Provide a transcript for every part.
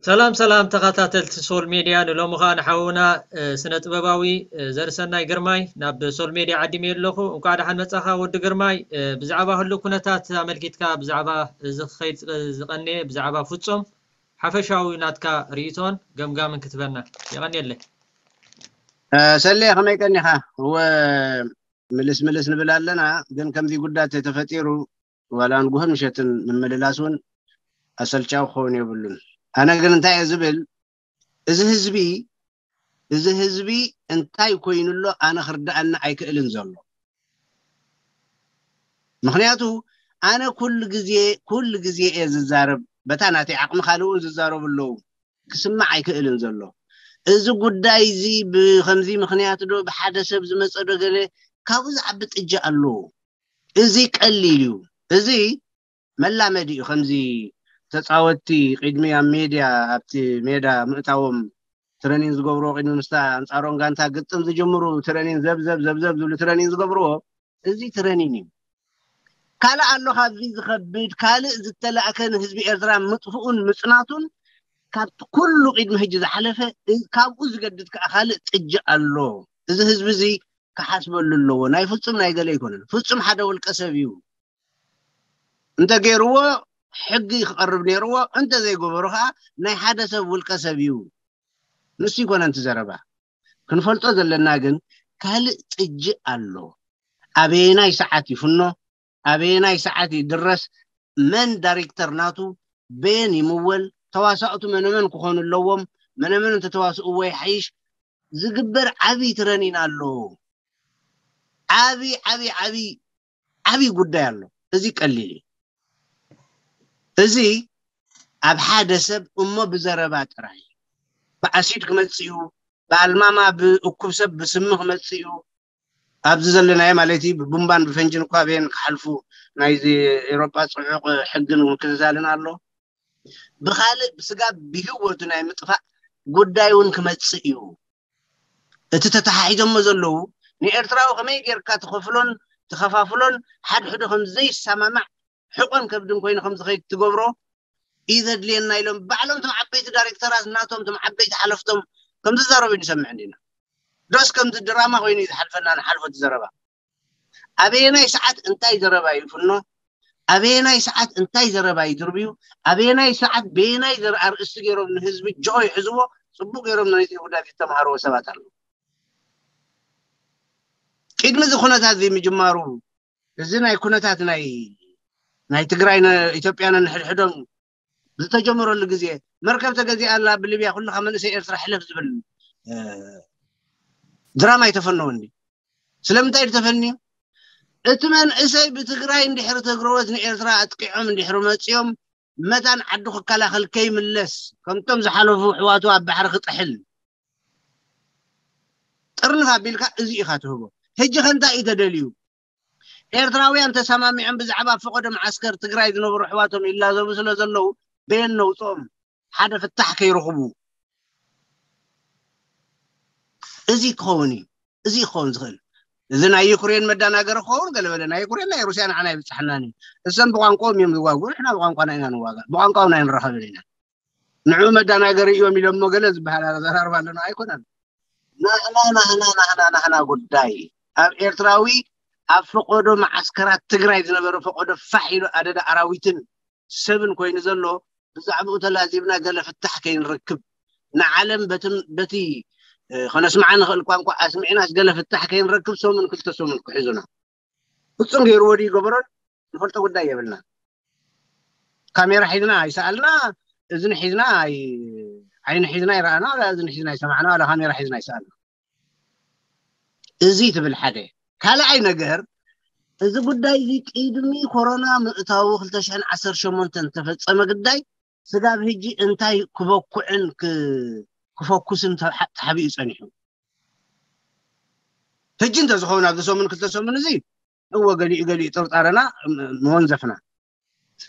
ሰላም ሰላም ተኸታተልቲ ሶል ሜድያ፣ ንሎሚ ኸኣ ንሓውና ስነ ጥበባዊ ዘርሰናይ ግርማይ ናብ ሶል ሜድያ ዓዲመዮ ኣለኹ። እንኳዕ ደሓን መጻኻ ወዲ ግርማይ። ብዛዕባ ህሉ ኩነታት ኣመልኪትካ፣ ብዛዕባ እዚ ክኸይድ ዝቐንየ ብዛዕባ ፍጹም ሓፈሻዊ ናትካ ርእይቶን ገምጋምን ክትበና። የቐንየለይ። ሰሌ፣ ከመይ ቀኒኻ? እወ፣ ምልስ ምልስ ንብል ኣለና፣ ግን ከምዚ ጉዳት ተፈጢሩ ዋላ ንጉሆን ምሸትን ምምልላስ እውን ኣሰልቻዊ ክኸውን የብሉን። ኣነ ግን እንታይ እየ ዝብል፣ እዚ ህዝቢ እዚ ህዝቢ እንታይ ኮይኑ ኣሎ ኣነ ክርዳኣኒ ኣይክእልን ዘሎ። ምኽንያቱ ኣነ ኩሉ ግዜ ኩሉ ግዜ እየ ዝዛረብ፣ በታ ናተይ ዓቕሚ ካልእ እውን ዝዛረቡ ኣለዉ። ክስማዕ ኣይክእልን ዘሎ። እዚ ጉዳይ እዚ ብከምዚ ምኽንያት ዶ ብሓደ ሰብ ዝመፀ ዶ ገለ ካብኡ ዝዓቢ ጥጃ ኣለዎ። እዚ ቀሊል እዩ። እዚ መላመዲ እዩ። ከምዚ ተፃወትቲ ቅድሚ ኣብ ሜድያ ኣብቲ ሜዳ ምእታዎም ትረኒን ዝገብርዎ ቅድሚ ምስታ ኣንፃሮም ጋንታ ግጥም ዝጅምሩ ትረኒን ዘብዘብ ዘብዘብ ዝብሉ ትረኒን ዝገብርዎ እዚ ትረኒን እዩ። ካልእ ኣሎ ካብዚ ዝኸብድ ካልእ ዝተላእከ ንህዝቢ ኤርትራ ምጥፍኡን ምጽናቱን ካብቲ ኩሉ ቅድሚ ሕጂ ዝሓለፈ እ- ካብኡ ዝገድድ ከዓ ካልእ ጥጅእ ኣሎ። እዚ ህዝቢ እዚ ክሓስበሉ ኣለዎ። ናይ ፍጹም ናይ ገለ ኣይኮነን። ፍጹም ሓደ ውልቀ ሰብ እዩ። እንተ ገይርዎ ሕጊ ክቐርብ ነይርዎ፣ እንተ ዘይገበሩ ከዓ ናይ ሓደ ሰብ ውልቀ ሰብ እዩ። ንሱ ይኮነን እቲ ዘረባ። ክንፈልጦ ዘለና ግን ካልእ ጥጅእ ኣሎ። ኣበየናይ ሰዓት ይፍኖ፣ ኣበየናይ ሰዓት ይድረስ፣ መን ዳይሬክተር ናቱ፣ በየን ይምወል፣ ተዋሳእቱ መነመን ክኾኑ ኣለዎም፣ መነመን እንተተዋስእዎ ይሓይሽ፣ ዝግበር ዓብዪ ትረኒን ኣሎ። ዓብዪ ዓብዪ ዓብዪ ዓብዪ ጉዳይ ኣሎ። እዚ ቀሊል እዩ። እዚ ኣብ ሓደ ሰብ እሞ ብዘረባ ጥራይ ብኣሲድ ክመጽእ እዩ፣ ብኣልማማ ብእኩብ ሰብ ብስሚ ክመጽእ እዩ። ኣብዚ ዘለናዮ ማለት እዩ ብቡምባን ብፈንጅን እኳ ኣበየን ክሓልፉ ናይዚ ኤሮጳ ጽዑቕ ሕግን ምክትታልን ኣሎ። ብኻልእ ብስጋ ብህይወቱ ናይ ምጥፋእ ጉዳይ እውን ክመጽእ እዩ። እቲ ተተሓሒዞሞ ዘለዉ ንኤርትራዊ ከመይ ጌርካ ትኸፍሎን ትኸፋፍሎን ሓድሕዱ ከም ዘይሰማማዕ ሕቆን ከብድን ኮይኑ ከም ዝኸይድ ትገብሮ እዩ ዘድልየና ኢሎም ባዕሎም እቶም ዓበይቲ ዳይሬክተራት ናቶም እቶም ዓበይቲ ሓለፍቶም ከም ዝዛረቡ ንሰምዕ እንዲና። ዶስ ከምዚ ድራማ ኮይኑ እዩ ዝሓልፈና ንሓልፎ እቲ ዘረባ። ኣበየናይ ሰዓት እንታይ ዘረባ ይፍኖ፣ ኣበየናይ ሰዓት እንታይ ዘረባ ይድርብዩ፣ ኣበየናይ ሰዓት በየናይ ዘር ኣርእስቲ ገይሮም ንህዝቢ ጆሆ ይሕዝዎ፣ ጽቡቅ ገይሮም ነቲ ጉዳት ዝተምሃርዎ ሰባት ኣለዉ። ቅድሚ እዚ ኩነታት እዚ ምጅማሩ እዚ ናይ ኩነታት ናይ ናይ ትግራይ ነ- ኢትዮጵያ ነንሕድሕዶም ዝተጀመረሉ ግዜ መርከብ ተገዚኣ ኣላ ብሊብያ ኩልኻ መንእሰይ ኤርትራ ሕለፍ ዝብል እ፣ ድራማ ኣይተፈነወን ድዩ? ስለምንታይ ድዩ ተፈንዩ? እቲ መንእሰይ ብትግራይ እንድሕሪ ተግረወት ንኤርትራ ኣጥቂዖም እንድሕሪ መፂኦም መታን ዓዱ ክከላኸል ከይምለስ ከምቶም ዝሓለፉ ኣሕዋቱ ኣብ ባሕሪ ክጥሕል ጥርንፍ ኣቢልካ እዚ ኢኻ ትህቦ። ሕጂ ከ እንታይ እዩ ተደልዩ? ኤርትራውያን ተሰማሚዖም ብዛዕባ ፈቐዶ መዓስከር ትግራይ ዝነበሩ ኣሕዋቶም ይላዘቡ ስለ ዘለዉ በየን ነውፅኦም ሓደ ፍታሕ ከይረኽቡ እዚ ክኸውን እዩ። እዚ ክኸውን ዝኽእል እዚ ናይ ዩክሬን መዳናገሪ ክኸውን ገለ በለ ናይ ዩክሬን ናይ ሩስያ ንዓና ይብፅሓናን እዩ። እሰም ብቋንቋኦም እዮም ዝዋግኡ ንሕና ብቋንቋና ኢና ንዋጋእ ብቋንቋኦም ናይ ንራኸብን ኢና። ንዑ መዳናገሪ እዮም ኢሎሞ ገለ ዝበሃል ኣዘራርባ ኣለና ኣይኮነን። ናህና ናህና ናህና ናህና ጉዳይ ኣብ ኤርትራዊ ኣብ ፈቆዶ መዓስከራት ትግራይ ዝነበረ ፈቆዶ ፋሕ ኢሉ ኣደዳ ኣራዊትን ሰብን ኮይኑ ዘሎ ብዛዕባኡ ተላዚብና ገለ ፍታሕ ከይንረክብ ንዓለም በቲ ከነስምዓ ንኽእል ቋንቋ ኣስሚዕናስ ገለ ፍታሕ ከይንረክብ ሰሙን ክልተ ሰሙን ክሕዙና ፍፁም ገይርዎ ድዩ ገበሮን ንፈልጦ ጉዳይ የብልና። ካሜራ ሒዝና ኣይሰኣልና፣ እዝኒ ሒዝና ኣይዓይኒ ሒዝና ኣይረኣና፣ ዋላ እዝኒ ሒዝና ኣይሰማዕና፣ ዋላ ካሜራ ሒዝና ኣይሰኣልና። እዚ ትብል ሓደ። ካልኣይ ነገር እዚ ጉዳይ እዚ ቅድሚ ኮሮና ምእታዉ ክልተ ሽሕን ዓሰርተ ሸሞንተን ዝተፈፀመ ግዳይ ስጋብ ሕጂ እንታይ ክበኩዕን ክፈኩስን ተሓቢኡ ፀኒሑ? ሕጂ እንተዝኸውን ኣብዚ ሰሙን ክልተ ሰሙን እዚ እወ ገሊኡ ገሊኡ ጥርጣረና መወንዘፍና።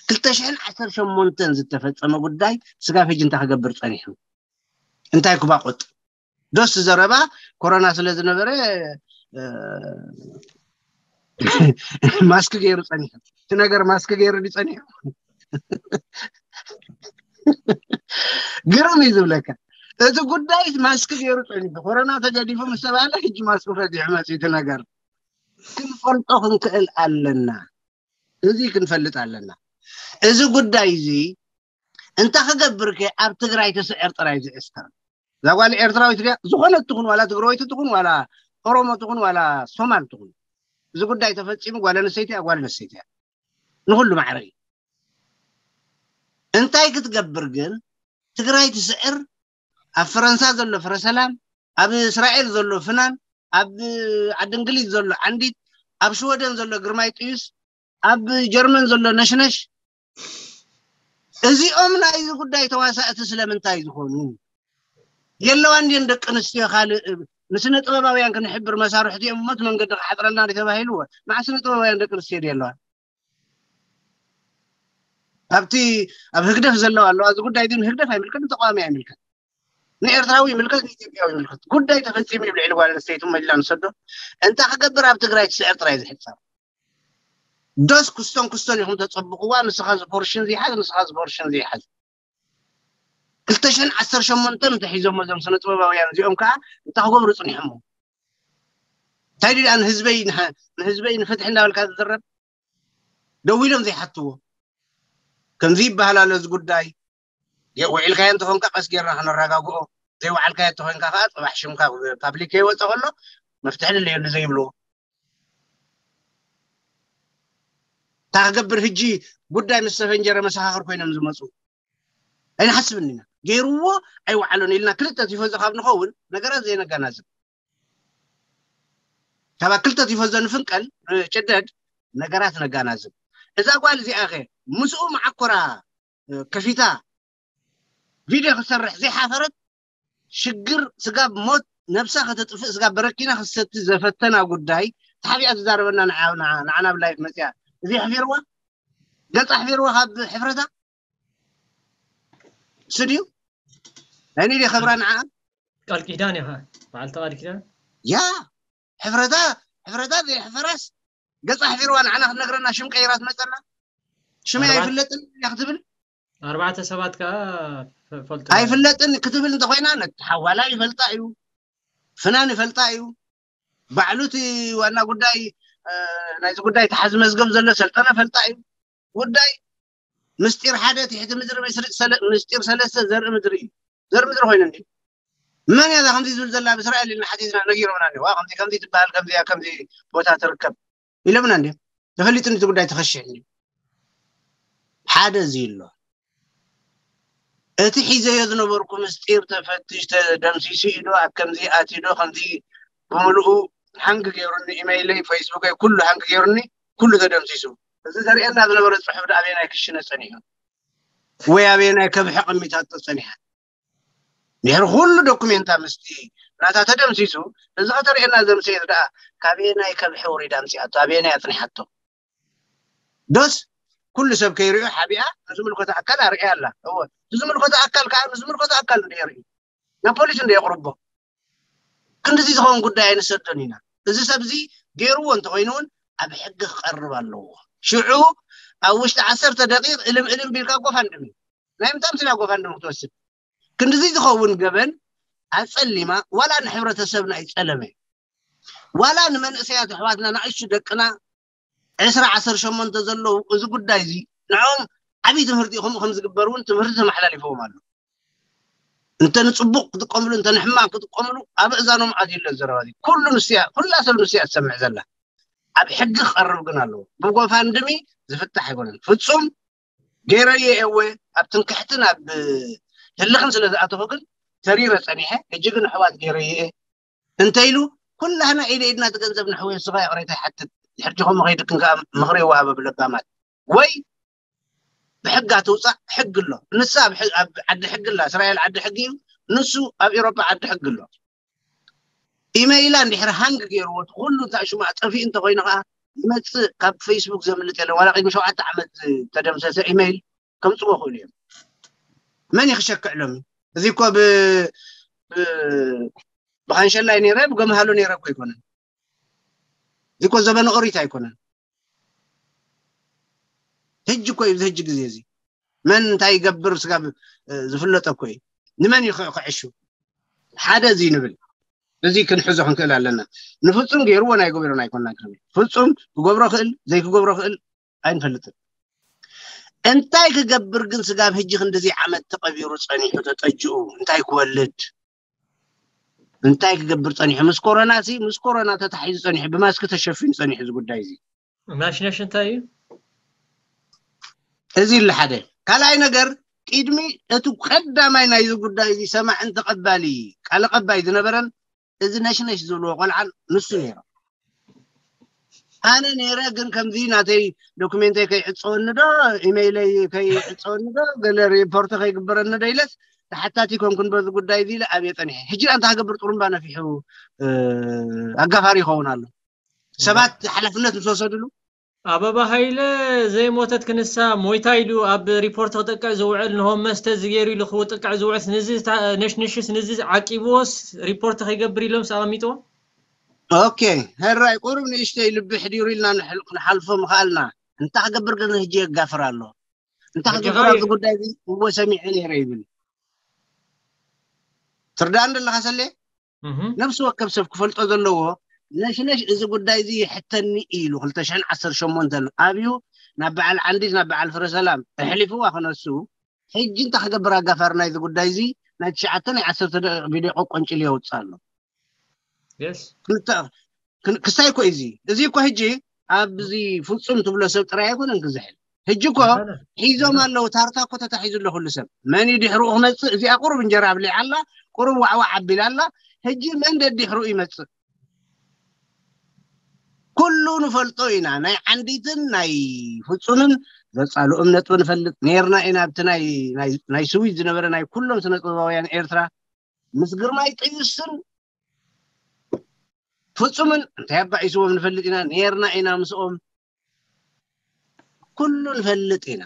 ክልተ ሽሕን ዓሰርተ ሸሞንተን ዝተፈጸመ ጉዳይ ስጋብ ሕጂ እንታይ ክገብር ጸኒሑ? እንታይ ክባቆጥ? ዶስ ዘረባ ኮሮና ስለ ዝነበረ ማስክ ገይሩ ጸኒሑ። እቲ ነገር ማስክ ገይሩ ድዩ ጸኒሑ? ግርም እዩ ዝብለካ። እቲ ጉዳይ ማስክ ገይሩ ጸኒሑ፣ ኮሮና ተገዲፉ ምስ ተባለ ሕጂ ማስክ ፈቲሑ መፅኡ። እቲ ነገር ክንፈልጦ ክንክእል ኣለና። እዚ ክንፈልጥ ኣለና። እዚ ጉዳይ እዚ እንተ ክገብር ከ ኣብ ትግራይ ትስዕር ጥራይ ዝእስከር። እዛ ጓል ኤርትራዊት ድያ? ዝኾነት ትኹን፣ ዋላ ትግራወይቲ ትኹን፣ ዋላ ኦሮሞ ትኹን፣ ዋላ ሶማል ትኹን፣ እዚ ጉዳይ ተፈጺሙ ጓል ኣንስተይቲ እያ፣ ጓል ኣንስተይቲ እያ። ንኹሉ ማዕረ እዩ። እንታይ ክትገብር ግን? ትግራይ ትስዕር። ኣብ ፈረንሳ ዘሎ ፍረሰላም፣ ኣብ እስራኤል ዘሎ ፍናን፣ ኣብ ዓዲ እንግሊዝ ዘሎ ዓንዲት፣ ኣብ ሽወደን ዘሎ ግርማይ ጥዩስ፣ ኣብ ጀርመን ዘሎ ነሽነሽ፣ እዚኦም ናይዚ ጉዳይ ተዋሳእቲ ስለምንታይ ዝኾኑ? የለዋን ድየን ደቂ ኣንስትዮ ካልእ ንስነ ጥበባውያን ክንሕብር መሳርሕቲ እዮም እሞ እቲ መንገዲ ክሓፅረልና ድዩ ተባሂሉ? መዓስ ስነ ጥበባውያን ደቂ ኣንስትዮ ድየለዋን? ኣብቲ ኣብ ህግደፍ ዘለዋ ኣለዋ። እዚ ጉዳይ ግን ህግደፍ ኣይምልከት፣ ንተቃዋሚ ኣይምልከት፣ ንኤርትራዊ ይምልከት፣ ንኢትዮጵያዊ ይምልከት። ጉዳይ ተፈጺሙ እዩ። ልዕሊ ጓል ኣንስተይቲ እሞ ኢልና ንሰዶ እንታ ክገብር ኣብ ትግራይ ትስዕር ጥራይ ዝሕጸር። ዶስ ክስቶን ክስቶን ኢኹም ተጸብቕዋ፣ ንስኻ ዝፖርሽን ዘይሓዝ፣ ንስኻ ዝፖርሽን ዘይሓዝ። ክልተ ሽሕን ዓሰርተ ሸሞንተን እንተሒዞሞ እዞም ስነ ጥበባውያን እዚኦም ከዓ እንታይ ክገብሩ ጽኒሖሞ? እንታይ ድኣ ንህዝበይ ንህ- ንህዝበይ ንፍትሒ እንዳበልካ ዝዝረብ? ደው ኢሎም ዘይሓትዎ? ከምዚ ይበሃል ኣሎ እዚ ጉዳይ። የ- ውዒልካዮ እንተኾንካ ቀስ ጌርና ክነረጋግኦ፣ ዘይወዓልካዮ እንተኾንካ ከዓ ጽባሕ ሽምካ ፓብሊክ ከይወፀ ከሎ መፍትሒ ድለየሉ ዘይብልዎ። እንታይ ክገብር ሕጂ? ጉዳይ ምስ ተፈንጀረ መሰኻኽር ኮይኖም ዝመፁ ኣይንሓስብን ኢና። ገይርዎ ኣይወዓሎን ኢልና ክልተ ቲፎዞ ካብ ንኸውን ነገራት ዘይነጋናዝብ፣ ካብ ክልተ ቲፎዞ ንፍንቀል፣ ንጭደድ፣ ነገራት ነጋናዝብ። እዛ ጓል እዚኣ ኸ ምስኡ መዓኮራ ከፊታ ቪድዮ ክሰርሕ ዘይሓፈረት? ሽግር ስጋብ ሞት ነብሳ ከተጥፍእ ስጋብ በረኪና ክትሰቲ ዘፈተና ጉዳይ ተሓቢኣ ትዛረበና ንዓ- ንዓ- ንዓና ብላይፍ መፅያ። እዚ ኣሕፊርዋ? ገፃ ኣሕፊርዋ ካብ ሕፍረታ? ስድዩ ናይ ንዲ ኸብራ ንዓ ቃል ኪዳን ኢኻ በዓልቲ ቃል ኪዳን ያ ሕፍረታ ሕፍረታ ዘይሕፈራስ ገፃ ኣሕፊርዋ ንዓና ክትነግረና ሽም ቀይራ ትመፀና። ሽመይ ኣይፍለጥን እያ ክትብል ኣርባዕተ ሰባት ከዓ ፈልጡ ኣይፍለጥን ክትብል እንተኮይና ነቲ ሓዋላ ይፈልጣ እዩ፣ ፍናን ይፈልጣ እዩ፣ ባዕሉ እቲ ዋና ጉዳይ ናይዚ ጉዳይ ተሓዚ መዝገብ ዘሎ ሰልጠነ ፈልጣ እዩ። ጉዳይ ምስጢር ሓደ ትሕቲ ምድሪ ምስጢር ሰለስተ ዘርኢ ምድሪ እዩ። ዘርኢ ምድሪ ኮይኑ እንዲ መን እያ ከምዚ ዝብል ዘላ ኣብ እስራኤል ኢልና ሓቲትና ነጊሮምና ኣለዋ። ከምዚ ከምዚ ትበሃል ከምዚ ከምዚ ቦታ ትርከብ ኢሎምና እንዲ ተፈሊጡ እቲ ጉዳይ ተኸሽሕ እንዲ ሓደ እዚ ኣሎ። እቲ ሒዘዮ ዝነበርኩ ምስጢር ተፈትሽ ተደምሲሱ ኢዶ ኣብ ከምዚ ኣትዶ ከምዚ ብምልኡ ሃንግ ገይሩኒ ኢመይለይ ፌስቡከይ ኩሉ ሃንግ ገይሩኒ ኩሉ ተደምሲሱ። እዚ ዘርእየና ዝነበረ ፅሑፍ ዳ ኣበየናይ ክሽነ ፀኒሑ ወይ ኣበየናይ ከብሒ ቀሚታቶ ፀኒሓ ድሕሪ ኩሉ ዶኩሜንታ ምስቲ ናታ ተደምሲሱ እዚ ከተርእየና ዘምሰየት ደኣ ካበየናይ ከብሒ ወሪዳ ኣምፅኣቶ ኣበየናይ ኣፅኒሓቶ ዶስ ኩሉ ሰብ ከይሪኦ ሓቢኣ ንዝምልከቶ ኣካል ኣርእያ ኣላ። እወ ንዝምልከቶ ኣካል ከዓ ንዝምልከቶ ኣካል እንደ የርኢ ናብ ፖሊስ እንደ የቕርቦ ክንድዚ ዝኸውን ጉዳይ ኣይንሰዶን ኢና። እዚ ሰብ እዚ ገይርዎ እንተኮይኑ እውን ኣብ ሕጊ ክቐርብ ኣለዎ። ሽዑ ኣብ ውሽጢ ዓሰርተ ደቂቕ እልም እልም ቢልካ ጎፋንድሚ ናይ ምንታይ ምስላ ጎፋንድሚ ክትወስድ ክንድዚ ዝኸውን ገበን ኣፀሊማ ዋላ ንሕብረተሰብና ይፀለመ ዋላ ንመንእሰያት ኣሕዋትና ንኣሽቱ ደቅና ዕስራ ዓሰርተ ሸሞንተ ዘለዉ እዚ ጉዳይ እዚ ንዕኦም ዓብዪ ትምህርቲ ከምኡ ከም ዝግበር እውን ትምህርቲ ተመሓላሊፈዎም ኣሎ። እንተ ንፅቡቅ ክጥቀምሉ እንተ ንሕማቅ ክጥቀምሉ ኣብ እዛኖም ኣትዩ ኣሎ ዘረባ እዚ ኩሉ ንስያ ኩላ ሰብ ንስያ ትሰምዕ ዘላ ኣብ ሕጊ ክቐርብ ግን ኣለዎ። ብጎፋንድሚ ዝፍታሕ ኣይኮነን ፍፁም ገይረዮ እየ እወ ኣብ ትምክሕትን ኣብ ህልኽን ስለ ዝኣተኹ ግን ተሪረ ፀኒሐ ሕጂ ግን ኣሕዋት ገይረዮ እየ እንተ ኢሉ ኩላህና ኢደ ኢድና እቲ ገንዘብ ንሕወዮ ንስኻ ይቕሬታ ይሓትት ድሕር ጆኹም መኸይድክን ከዓ ምኽሪ ይወሃበ ብለባማት ወይ ብሕጋ ትውፃእ ሕጊ ኣሎ ንሳ ኣብ ዓዲ ሕጊ ኣላ እስራኤል ዓዲ ሕጊ እዩ ንሱ ኣብ ኤሮፓ ዓዲ ሕጊ ኣሎ ኢመይላ እንድሕር ሃንግ ገይርዎ እቲ ኩሉ እንታይ ሽሙ ኣጠፊኡ እንተኮይኑ ከዓ ዝመፅእ ካብ ፌስቡክ ዘምልጥ የለን። ዋላ ቅድሚ ሸውዓተ ዓመት ዝተደምሰሰ ኢሜይል ከምፅዎ ክእሉ እዮም። መን እዩ ክሸክዕ ሎሚ? እዚ እኮ ብ ብ- ብካንሸላይ ነይረ ብገምሃሎ ነይረ እኮ ኣይኮነን። እዚ እኮ ዘበነ ኦሪት ኣይኮነን። ህጂ እኮ እዩ፣ እዚ ህጂ ግዜ እዚ መን እንታይ ይገብር ስጋብ ዝፍለጠ እኮ እዩ። ንመን እዩ ክዕሹ? ሓደ እዚ ንብል፣ እዚ ክንሕዞ ክንክእል ኣለና። ንፍፁም ገይርዎ ናይ ገበሮን ኣይኮና። ፍፁም ክገብሮ ክእል ዘይክገብሮ ክእል ኣይንፈልጥን። እንታይ ክገብር ግን ስጋብ ህጂ ክንድዚ ዓመት ተቐቢሩ ፀኒሑ ተጠጅኡ እንታይ ክወልድ? እንታይ ክገብር ፀኒሑ? ምስ ኮሮና ሲ ምስ ኮሮና ተታሒዙ ፀኒሑ፣ ብማስክ ተሸፊኑ ፀኒሑ እዚ ጉዳይ እዚ። ናሽነሽ እንታይ እዩ? እዚ ኢሉ ሓደ ካልኣይ ነገር፣ ቅድሚ እቲ ቀዳማይ ናይዚ ጉዳይ እዚ ሰማዕን ተቐባሊ ቃል ቀባይ ዝነበረን እዚ ነሽነሽ ዝብልዎ ቆልዓን ንሱ ነይሩ። ኣነ ነይረ፣ ግን ከምዚ ናተይ ዶክሜንተይ ከይዕፀወኒ ዶ ኢሜይለይ ከይዕፀወኒ ዶ ገለ ሪፖርት ከይግበረኒ ዶ ኢለስ ተሓታቲ ኮንኩን በዚ ጉዳይ እዚ ኢለ ኣብየ ፀኒሐ። ሕጂ እንታይ ክገብር? ጥሩምባ ነፊሑ ኣጋፋሪ ይኸውን ኣሎ። ሰባት ሓላፍነት ምስ ወሰድሉ ኣበባ ሃይለ ዘይሞተት ክንሳ ሞይታ ኢሉ ኣብ ሪፖርት ክጥቅዕ ዝውዕል ንሆም መስተ ዝገይሩ ኢሉ ክጥቅዕ ዝውዕል ንዚ ነሽንሽስ ንዚ ዓቂብዎስ ሪፖርት ከይገብር ኢሎም ኣቐሚጥዎ። ኦኬ፣ ሕራይ ቁሩብ ንእሽተይ ልቢ ሕዲሩ ኢልና ንሓልፎ ምኽኣልና። እንታይ ክገብር ግን ህጂ የጋፍር ኣሎ። እንታይ ክገብር ኣብዚ ጉዳይ እዚ እዎ ሰሚዐ ነይረ ይብል። ትርዳእን ዘለኻ ሰሌ? ነብሲ ወከፍ ሰብ ክፈልጦ ዘለዎ ነሽነሽ እዚ ጉዳይ እዚ ይሕተኒ ኢሉ ክልተ ሽሕን ዓሰርተ ሸሞንተን ኣብዩ ናብ በዓል ዓንዲት ናብ በዓል ፍረ ሰላም ኣሕሊፍዋ ክነሱ። ሕጂ እንታይ ክገብር ኣጋፋሪ ናይዚ ጉዳይ እዚ ናይ ትሽዓተ ናይ ዓሰርተ ቪድዮ ቆቆንጭል የውፅእ ኣሎ። ክስታይ እኮ እዚ እዚ እኮ ሕጂ ኣብዚ ፍፁም ትብሎ ሰብ ጥራይ ኣይኮነን ክዝሕል። ሕጂ እኮ ሒዞም ኣለዉ። ታርታ እኮ ተታሒዙ ኣሎ ኩሉ ሰብ። መን እዩ ድሕርኡ ክመፅእ? እዚኣ ቁሩብ እንጀራ ኣብሊዓ ኣላ፣ ቁሩብ ዋዕዋዕ ኣቢላ ኣላ። ሕጂ መን ደድሕርኡ ይመፅእ? ኩሉ ንፈልጦ ኢና። ናይ ዓንዲትን ናይ ፍፁምን ዘፃልኦም ነጥቢ ንፈልጥ ነይርና ኢና። ኣብቲ ናይ ስዊዝ ዝነበረ ናይ ኩሎም ስነ ጥበባውያን ኤርትራ ምስ ግርማይ ጥዩስን ፍፁምን እንታይ ኣባኢስዎም ንፈልጥ ኢና። ነይርና ኢና ምስኦም። ኩሉ ንፈልጥ ኢና፣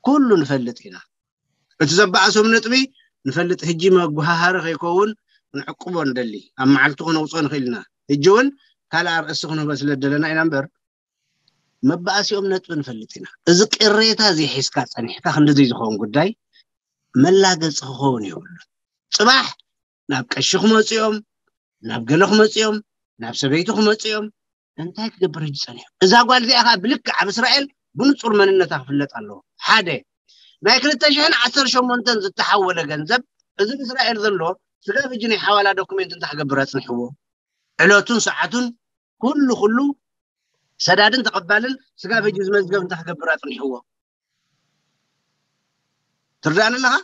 ኩሉ ንፈልጥ ኢና። እቲ ዘባኣሶም ነጥቢ ንፈልጥ። ሕጂ መጉሃሃሪ ከይከውን ክንዕቅቦ ንደሊ። ኣብ መዓልቲ ክነውፅኦ ንኽእል ኢና። ሕጂ እውን ካልእ ኣርእስቲ ክንህቦ ስለ ዝደለና ኢና እምበር መባኣሲኦም ነጥቢ ንፈልጥ ኢና። እዚ ቅሬታ እዚ ሒዝካ ፀኒሕካ ክንድዚ ዝኸውን ጉዳይ መላገፂ ክኸውን የብሉን። ፅባሕ ናብ ቀሺ ክመፁ እዮም፣ ናብ ገለ ክመፁ እዮም፣ ናብ ሰበይቲ ክመፁ እዮም። እንታይ ክገብር ሕጂ ፀኒሑ? እዛ ጓል እዚኣ ከዓ ብልክዕ ኣብ እስራኤል ብንፁር መንነታ ክፍለጥ ኣለዎ። ሓደ ናይ ክልተ ሽሕን ዓሰርተ ሸሞንተን ዝተሓወለ ገንዘብ እዚ ብእስራኤል ዘሎ ስጋብ ሕጂ ናይ ሓዋላ ዶኩሜንት እንታይ ክገብር ኣፅኒሕዎ? ዕለቱን ሰዓቱን ኩሉ ኩሉ ሰዳድን ተቐባልን ስጋብ ሕጂ ዝመዝገብ እንታይ ክገብር ኣፅኒሕዎ? ትርዳእኒ ኣለኻ?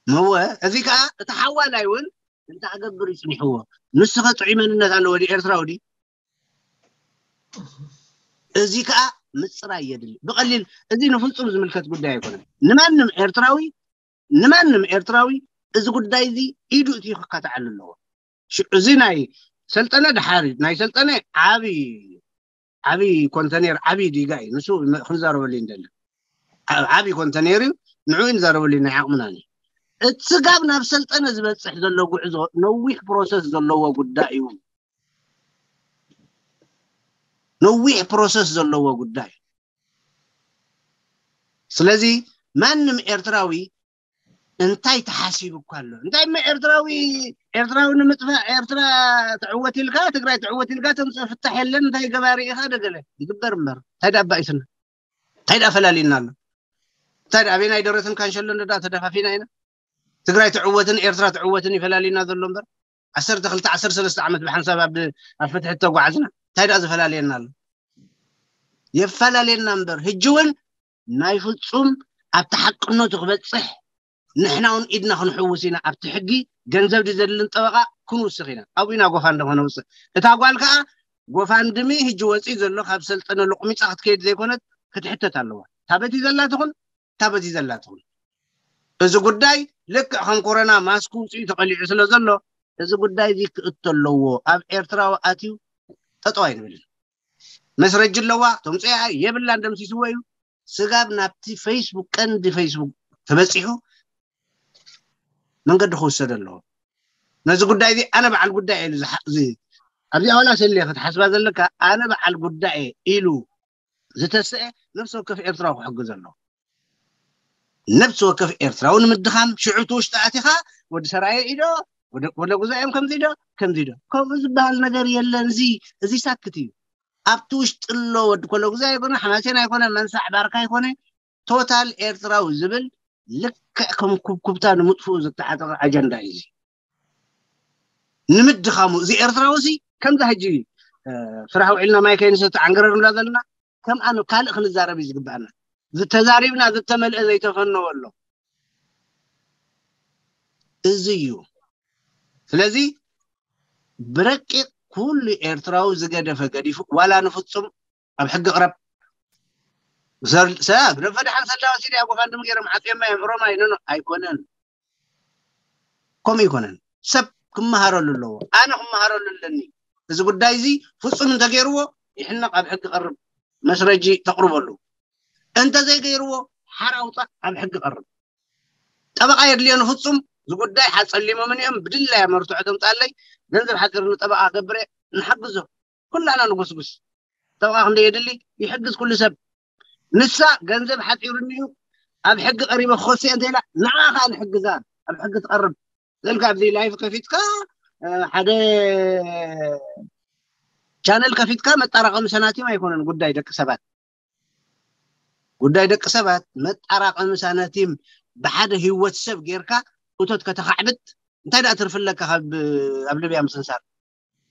መወ እዚ ከዓ እቲ ሓዋላይ እውን እንታይ ክገብር እዩ ፅኒሕዎ? ንስኸ ጥዑይ መንነት ኣለዎ ድዩ? ኤርትራዊ ድዩ? እዚ ከዓ ምፅራይ የድሊ ብቐሊል። እዚ ንፍፁም ዝምልከት ጉዳይ ኣይኮነን። ንማንም ኤርትራዊ ንማንም ኤርትራዊ እዚ ጉዳይ እዚ ኢዱ እቲ ክካትዓሉ ኣለዎ። እዚ ናይ ሰልጠነ ድሓር ናይ ሰልጠነ ዓብይ ዓብይ ኮንተኔር ዓብይ ዲጋ እዩ። ንሱ ክንዛረበሉ እንደሊ ዓብይ ኮንተኔር እዩ። ንዑ ንዛረበሉ ናይ ዓቕምና እዩ። እቲ ስጋብ ናብ ሰልጠነ ዝበፅሕ ዘሎ ጉዕዞ ነዊሕ ፕሮሰስ ዘለዎ ጉዳይ እዩ። ነዊሕ ፕሮሰስ ዘለዎ ጉዳይ። ስለዚ ማንም ኤርትራዊ እንታይ ተሓሲቡ እኳ ኣሎ? እንታይ እሞ ኤርትራዊ ኤርትራዊ ንምጥፋእ ኤርትራ ትዕወት ኢልካ ትግራይ ትዕወት ኢልካ ተምፅእ ፍታሕ የለን። እንታይ ገባሪ ኢኻ ደገለ ይግበር እምበር እንታይ ዳ ኣባኢስና? እንታይ ዳ ፈላሊና ኣሎ? እንታይ ዳ ኣበይናይ ደረትን ካንሸሎን ዳ ተደፋፊና ኢና? ትግራይ ትዕወትን ኤርትራ ትዕወትን ይፈላሊና ዘሎ እምበር ዓሰርተ ክልተ ዓሰርተ ሰለስተ ዓመት ብሓንሳብ ኣብ ኣብ ፍትሒ ተጓዓዝና እንታይ ዳ ዝፈላልየና ኣሎ? የፈላለየና እምበር ሕጂ እውን ናይ ፍፁም ኣብቲ ሓቅነቱ ክበፅሕ ንሕና እውን ኢድና ክንሕውስ ኢና። ኣብቲ ሕጊ ገንዘብ ድዘድልን ጠበቃ ክንውስኽ ኢና። ኣብኡ ኢና ጎፋንድሚ ከነውፅእ። እታ ጓል ከዓ ጎፋንድሚ ሕጂ ወፂኡ ዘሎ ካብ ሰልጠነ ሎቕሚፃ ክትከይድ ዘይኮነት ክትሕተት ኣለዋ። ታበቲ ዘላ ትኹን ታበቲ ዘላ ትኹን እዚ ጉዳይ ልክዕ ከም ኮረና ማስክ ውፅኡ ተቐሊዑ ስለ ዘሎ እዚ ጉዳይ እዚ ክእቶ ኣለዎ። ኣብ ኤርትራዊ ኣትዩ ጠጠው ኣይንብልን። መስረጂ ኣለዋ፣ ተምፅኦ እያ፣ የብላን፣ ደምሲስዎ እዩ። ስጋብ ናብቲ ፌስቡክ፣ ቀንዲ ፌስቡክ ተበፂሑ መንገዲ ክውሰድ ኣለዎ። ነዚ ጉዳይ እዚ ኣነ በዓል ጉዳይ እየ ኢሉ ዝሓ- እዚ ኣብዚኣ ዋላ ሰልየ ክትሓስባ ዘለካ፣ ኣነ በዓል ጉዳይ እየ ኢሉ ዝተስአ ነፍሲ ወከፍ ኤርትራዊ ክሕግዝ ኣለዎ። ነፍሲ ወከፍ ኤርትራዊ ንምድኻም ሽዑ እቲ ውሽጢ ኣቲኻ ወዲ ሰራየ ኢዶ ወደ ወደ ጉዛዮም ከምዚ ዶ ከምዚ ዶ ከምኡ ዝበሃል ነገር የለን። እዚ እዚ ሳክት እዩ። ኣብቲ ውሽጢ ኣሎ ወዲ ኮለጉዛ ኣይኮነ፣ ሓማሴን ኣይኮነ፣ መንሳዕ ባርካ ኣይኮነ፣ ቶታል ኤርትራዊ ዝብል ልክዕ ከም ኩብኩብታ ንምጥፍኡ ዝተዓጠቐ ኣጀንዳ እዩ። እዚ ንምድኻሙ እዚ ኤርትራዊ እዚ ከምዚ ሕጂ እ፣ ስራሕ ውዒልና ማይ ከይንሰቲ ዓንገረር ንብላ ዘለና ከም ኣነ ካልእ ክንዛረብ እዩ ዝግብኣና። ዝተዛሪብና ዝተመልአ ዘይተፈነወ ኣሎ። እዚ እዩ። ስለዚ ብረቂቕ ኩሉ ኤርትራዊ ዝገደፈ ገዲፉ ዋላ ንፍጹም ኣብ ሕጊ ቅረብ። ሰብ ሰብ ረፈድሓን ሰላዋ ሲድያ ጎፋንድም ገይሮም ዓፅዮማ እዮም ሮማይ ኖኖ ኣይኮነን። ከምኡ ኣይኮነን። ሰብ ክመሃረሉ ኣለዎ። ኣነ ክመሃረሉ ኣለኒ። እዚ ጉዳይ እዚ ፍጹም እንተገይርዎ ይሕነቕ፣ ኣብ ሕጊ ቀርብ፣ መስረጂ ተቕርበሉ። እንተዘይገይርዎ ሓራ ውፃእ፣ ኣብ ሕጊ ቀርብ። ጠበቓ የድልዮ ንፍጹም። እዚ ጉዳይ ሓፀሊሞምን እዮም ብድላይ መርትዖ ተምፃለይ። ገንዘብ ሓፂርኒ ጠበቓ ገብረ ንሓግዞ። ኩላና ንጉስጉስ። ጠበቓ ክንደ የድሊ ይሕግዝ ኩሉ ሰብ። ንሳ ገንዘብ ሓፂሩኒ እዩ ኣብ ሕጊ ቀሪበ ክኸሶ እየ እንተኢላ ንዓ ከዓ ንሕግዛ ኣብ ሕጊ ትቐርብ። ዘልካ ኣብዚ ላይፍ ከፊትካ እ፣ ሓደ ቻነል ከፊትካ መጣራቐሚ ሰናቲም ኣይኮነን ጉዳይ ደቂ ሰባት። ጉዳይ ደቂ ሰባት መጣራቐሚ ሳናቲም ብሓደ ህይወት ሰብ ጌርካ እቶት ከተኻዕብት እንታይ ደኣ ትርፊ ኣለካ ካብ ኣብ ልብያ ምስንሳር?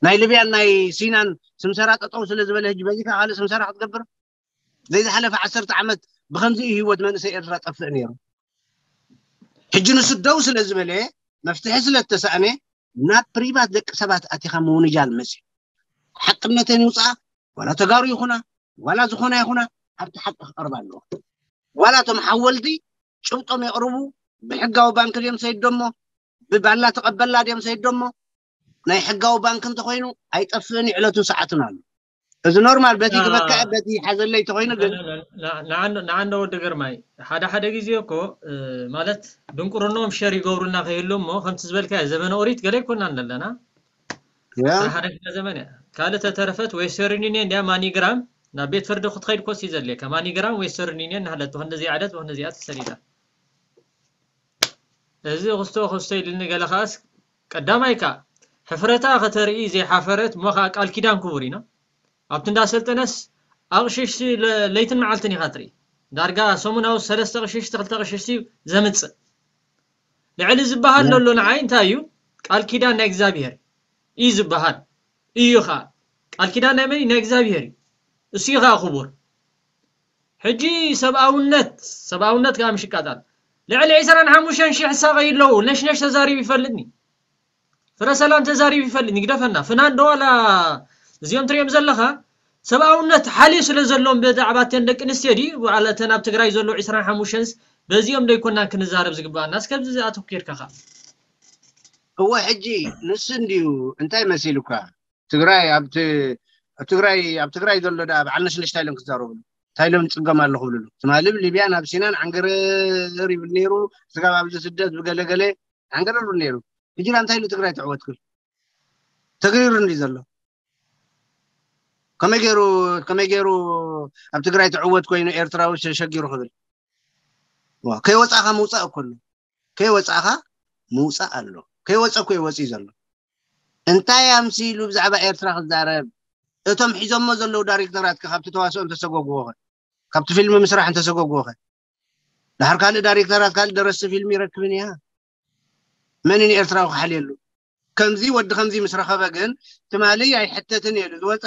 ናይ ልብያን ናይ ሲናን ስምሰራ ጠጠው ስለ ዝበለ ሕጂ በዚ ካልእ ስምሰራ ክትገብር ዘይዝሓለፈ ዓሰርተ ዓመት ብከምዚ እዩ ህይወት መንእሰይ ኤርትራ ጠፍእ ነይሩ። ሕጂ ንሱ ደው ስለ ዝበለ መፍትሒ ስለ እተሳእነ ናብ ፕሪቫት ደቂ ሰባት ኣቲኻ ምውንጃል መፅዩ። ሓቅነተን ይውፅኣ ዋላ ተጋሩ ይኹና ዋላ ዝኾና ይኹና ኣብቲ ሓቂ ክቐርባ ኣለዎ። ዋላ እቶም ሓወልቲ ጭብጦም የቕርቡ። ብሕጋዊ ባንክ ድዮም ሰይዶሞ ብባላ ተቐበላ ድዮም ሰይዶሞ ናይ ሕጋዊ ባንክ እንተኮይኑ ኣይጠፍእን ይዕለቱን ሰዓቱን ኣሎ። እዚ ኖርማል በቲ ክበክዐ በቲ ሓዘለይ ተኮይኑ ግን ንዓንዶ ወዲ ግርማይ ሓደ ሓደ ግዜ እኮ ማለት ድንቁርኖም ሸር ይገብሩና ከይህሉ እሞ ከምቲ ዝበልካ ዘመነ ኦሪት ገለ ይኮናን ዘለና ሓደ ክፍለ ዘመን እያ ካልእ ተተረፈት ዌስተርን ዩኒየን እንዲያ ማኒግራም ናብ ቤት ፍርዲ ክትኸይድ ኮሲ ዘድልየካ ማኒግራም ዌስተርን ዩኒየን ናሃለት ብክንደዚኣ ዕለት ብክንደዚኣ ተሰሊላ እዚ ክስቶ ክስቶ ኢልኒ ገለ ከኣስ ቀዳማይ ከኣ ሕፍረታ ከተርኢ ዘይሓፈረት እሞ ከኣ ቃል ኪዳን ክቡር ኢና ኣብቲ እንዳሰልጠነስ ኣቕሽሽቲ ለይትን መዓልትን ኢኻ ትርኢ ዳርጋ ሰሙናዊ ሰለስተ ቅሽሽቲ ክልተ ቅሽሽቲ ዘምፅእ ልዕሊ ዝበሃል ዘሎ ንዓይ እንታይ እዩ ቃል ኪዳን ናይ እግዚኣብሄር እዩ ዝበሃል እዩ ኸዓ ቃል ኪዳን ናይ መን ናይ እግዚኣብሄር እዩ እሱ እዩ ኸዓ ክቡር ሕጂ ሰብኣውነት ሰብኣውነት ከዓ ምሽ ይቃጣል ልዕሊ ዕስራን ሓሙሽተን ሺሕ ሳቐዩ ኣለዉ ነሽነሽ ተዛሪቡ ይፈልጥኒ ፍረ ሰላም ተዛሪቡ ይፈልጥኒ ግደፈና ፍናን ዶ ዋላ እዚኦም ትሪኦም ዘለኻ ሰብኣውነት ሓልዩ ስለ ዘሎም ብዛዕባ እተን ደቂ ኣንስትዮ ድዩ ዋላ እተን ኣብ ትግራይ ዘሎ ዕስራን ሓሙሽተንስ በዚኦም ዶ ይኮናን ክንዛረብ ዝግባኣና እስከ ኣብዚ ኣተኩርካ ኸ እወ ሕጂ ንሱ እንድዩ እንታይ መሲሉካ ትግራይ ኣብ ትግራይ ኣብ ትግራይ ዘሎ ደኣ በዓል ነሽነሽ ታይሎም ክዛረብሉ ታይሎም ፅገም ኣለኹ ብልሉ ትማሊ ብሊብያን ኣብ ሲናን ዓንገረር ይብል ነይሩ ስጋብ ኣብዚ ስደት ብገለገለ ዓንገረር ይብል ነይሩ ሕጂ እንታይ ኢሉ ትግራይ ትዕወት ክብል ተገይሩ እንዲ ዘሎ ከመይ ገይሩ ከመይ ገይሩ ኣብ ትግራይ ትዕወት ኮይኑ ኤርትራዊ ሸጊሩ ክብል ከይወፃእካ ምውፃእ እኮ ኣሎ ከይወፃእካ ምውፃእ ኣሎ ከይወፀ እኮ ይወፂ ዘሎ እንታይ ኣምሲሉ ብዛዕባ ኤርትራ ክዛረብ እቶም ሒዞሞ ዘለዉ ዳይሬክተራት ካብቲ ተዋስኦ እንተሰጎግዎ ኸ ካብቲ ፊልም ምስራሕ እንተሰጎግዎ ኸ ድሓር ካልእ ዳይሬክተራት ካልእ ደረስቲ ፊልም ይረክብን እያ መን ንኤርትራዊ ክሓልየሉ ከምዚ ወዲ ከምዚ ምስ ረኸበ ግን ትማሊ ኣይሕተትን እየ ዝወፀ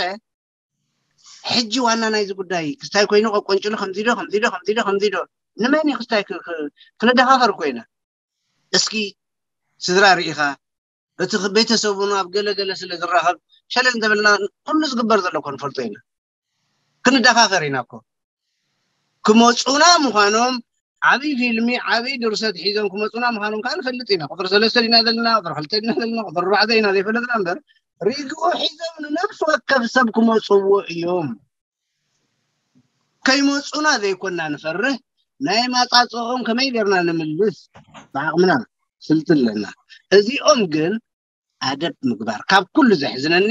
ሕጂ ዋና ናይዚ ጉዳይ ክስታይ ኮይኑ ቆቆንጭሉ ከምዚ ዶ ከምዚ ዶ ከምዚ ዶ ከምዚ ዶ ንመን እዩ ክስታይ ክንደፋፈር ኮይና እስኪ ስድራ ርኢኻ እቲ ቤተሰቡን ኣብ ገለገለ ስለ ዝራኸብ ሸለል እንተበልና ኩሉ ዝግበር ዘሎ ኮንፈልጦ ኢና ክንደፋፈር ኢና እኮ ክመፁና ምዃኖም ዓብይ ፊልሚ ዓብይ ድርሰት ሒዞም ክመፁና ምዃኖም ከዓ ንፈልጥ ኢና ቁፅሪ ሰለስተ ዲና ዘለና ቁፅሪ ክልተ ዲና ዘለና ቁፅሪ ኣርባዕተ ኢና ዘይፈለጥና እምበር ሪግኦ ሒዞም ንነፍሲ ወከፍ ሰብ ክመፅዎ እዮም። ከይመፁና ዘይኮና ንፈርህ፣ ናይ ማፃፅኦም ከመይ ጌርና ንምልስ ብዓቕምና ስልቲ ኣለና። እዚኦም ግን ኣደብ ምግባር ካብ ኩሉ ዘሕዝነኒ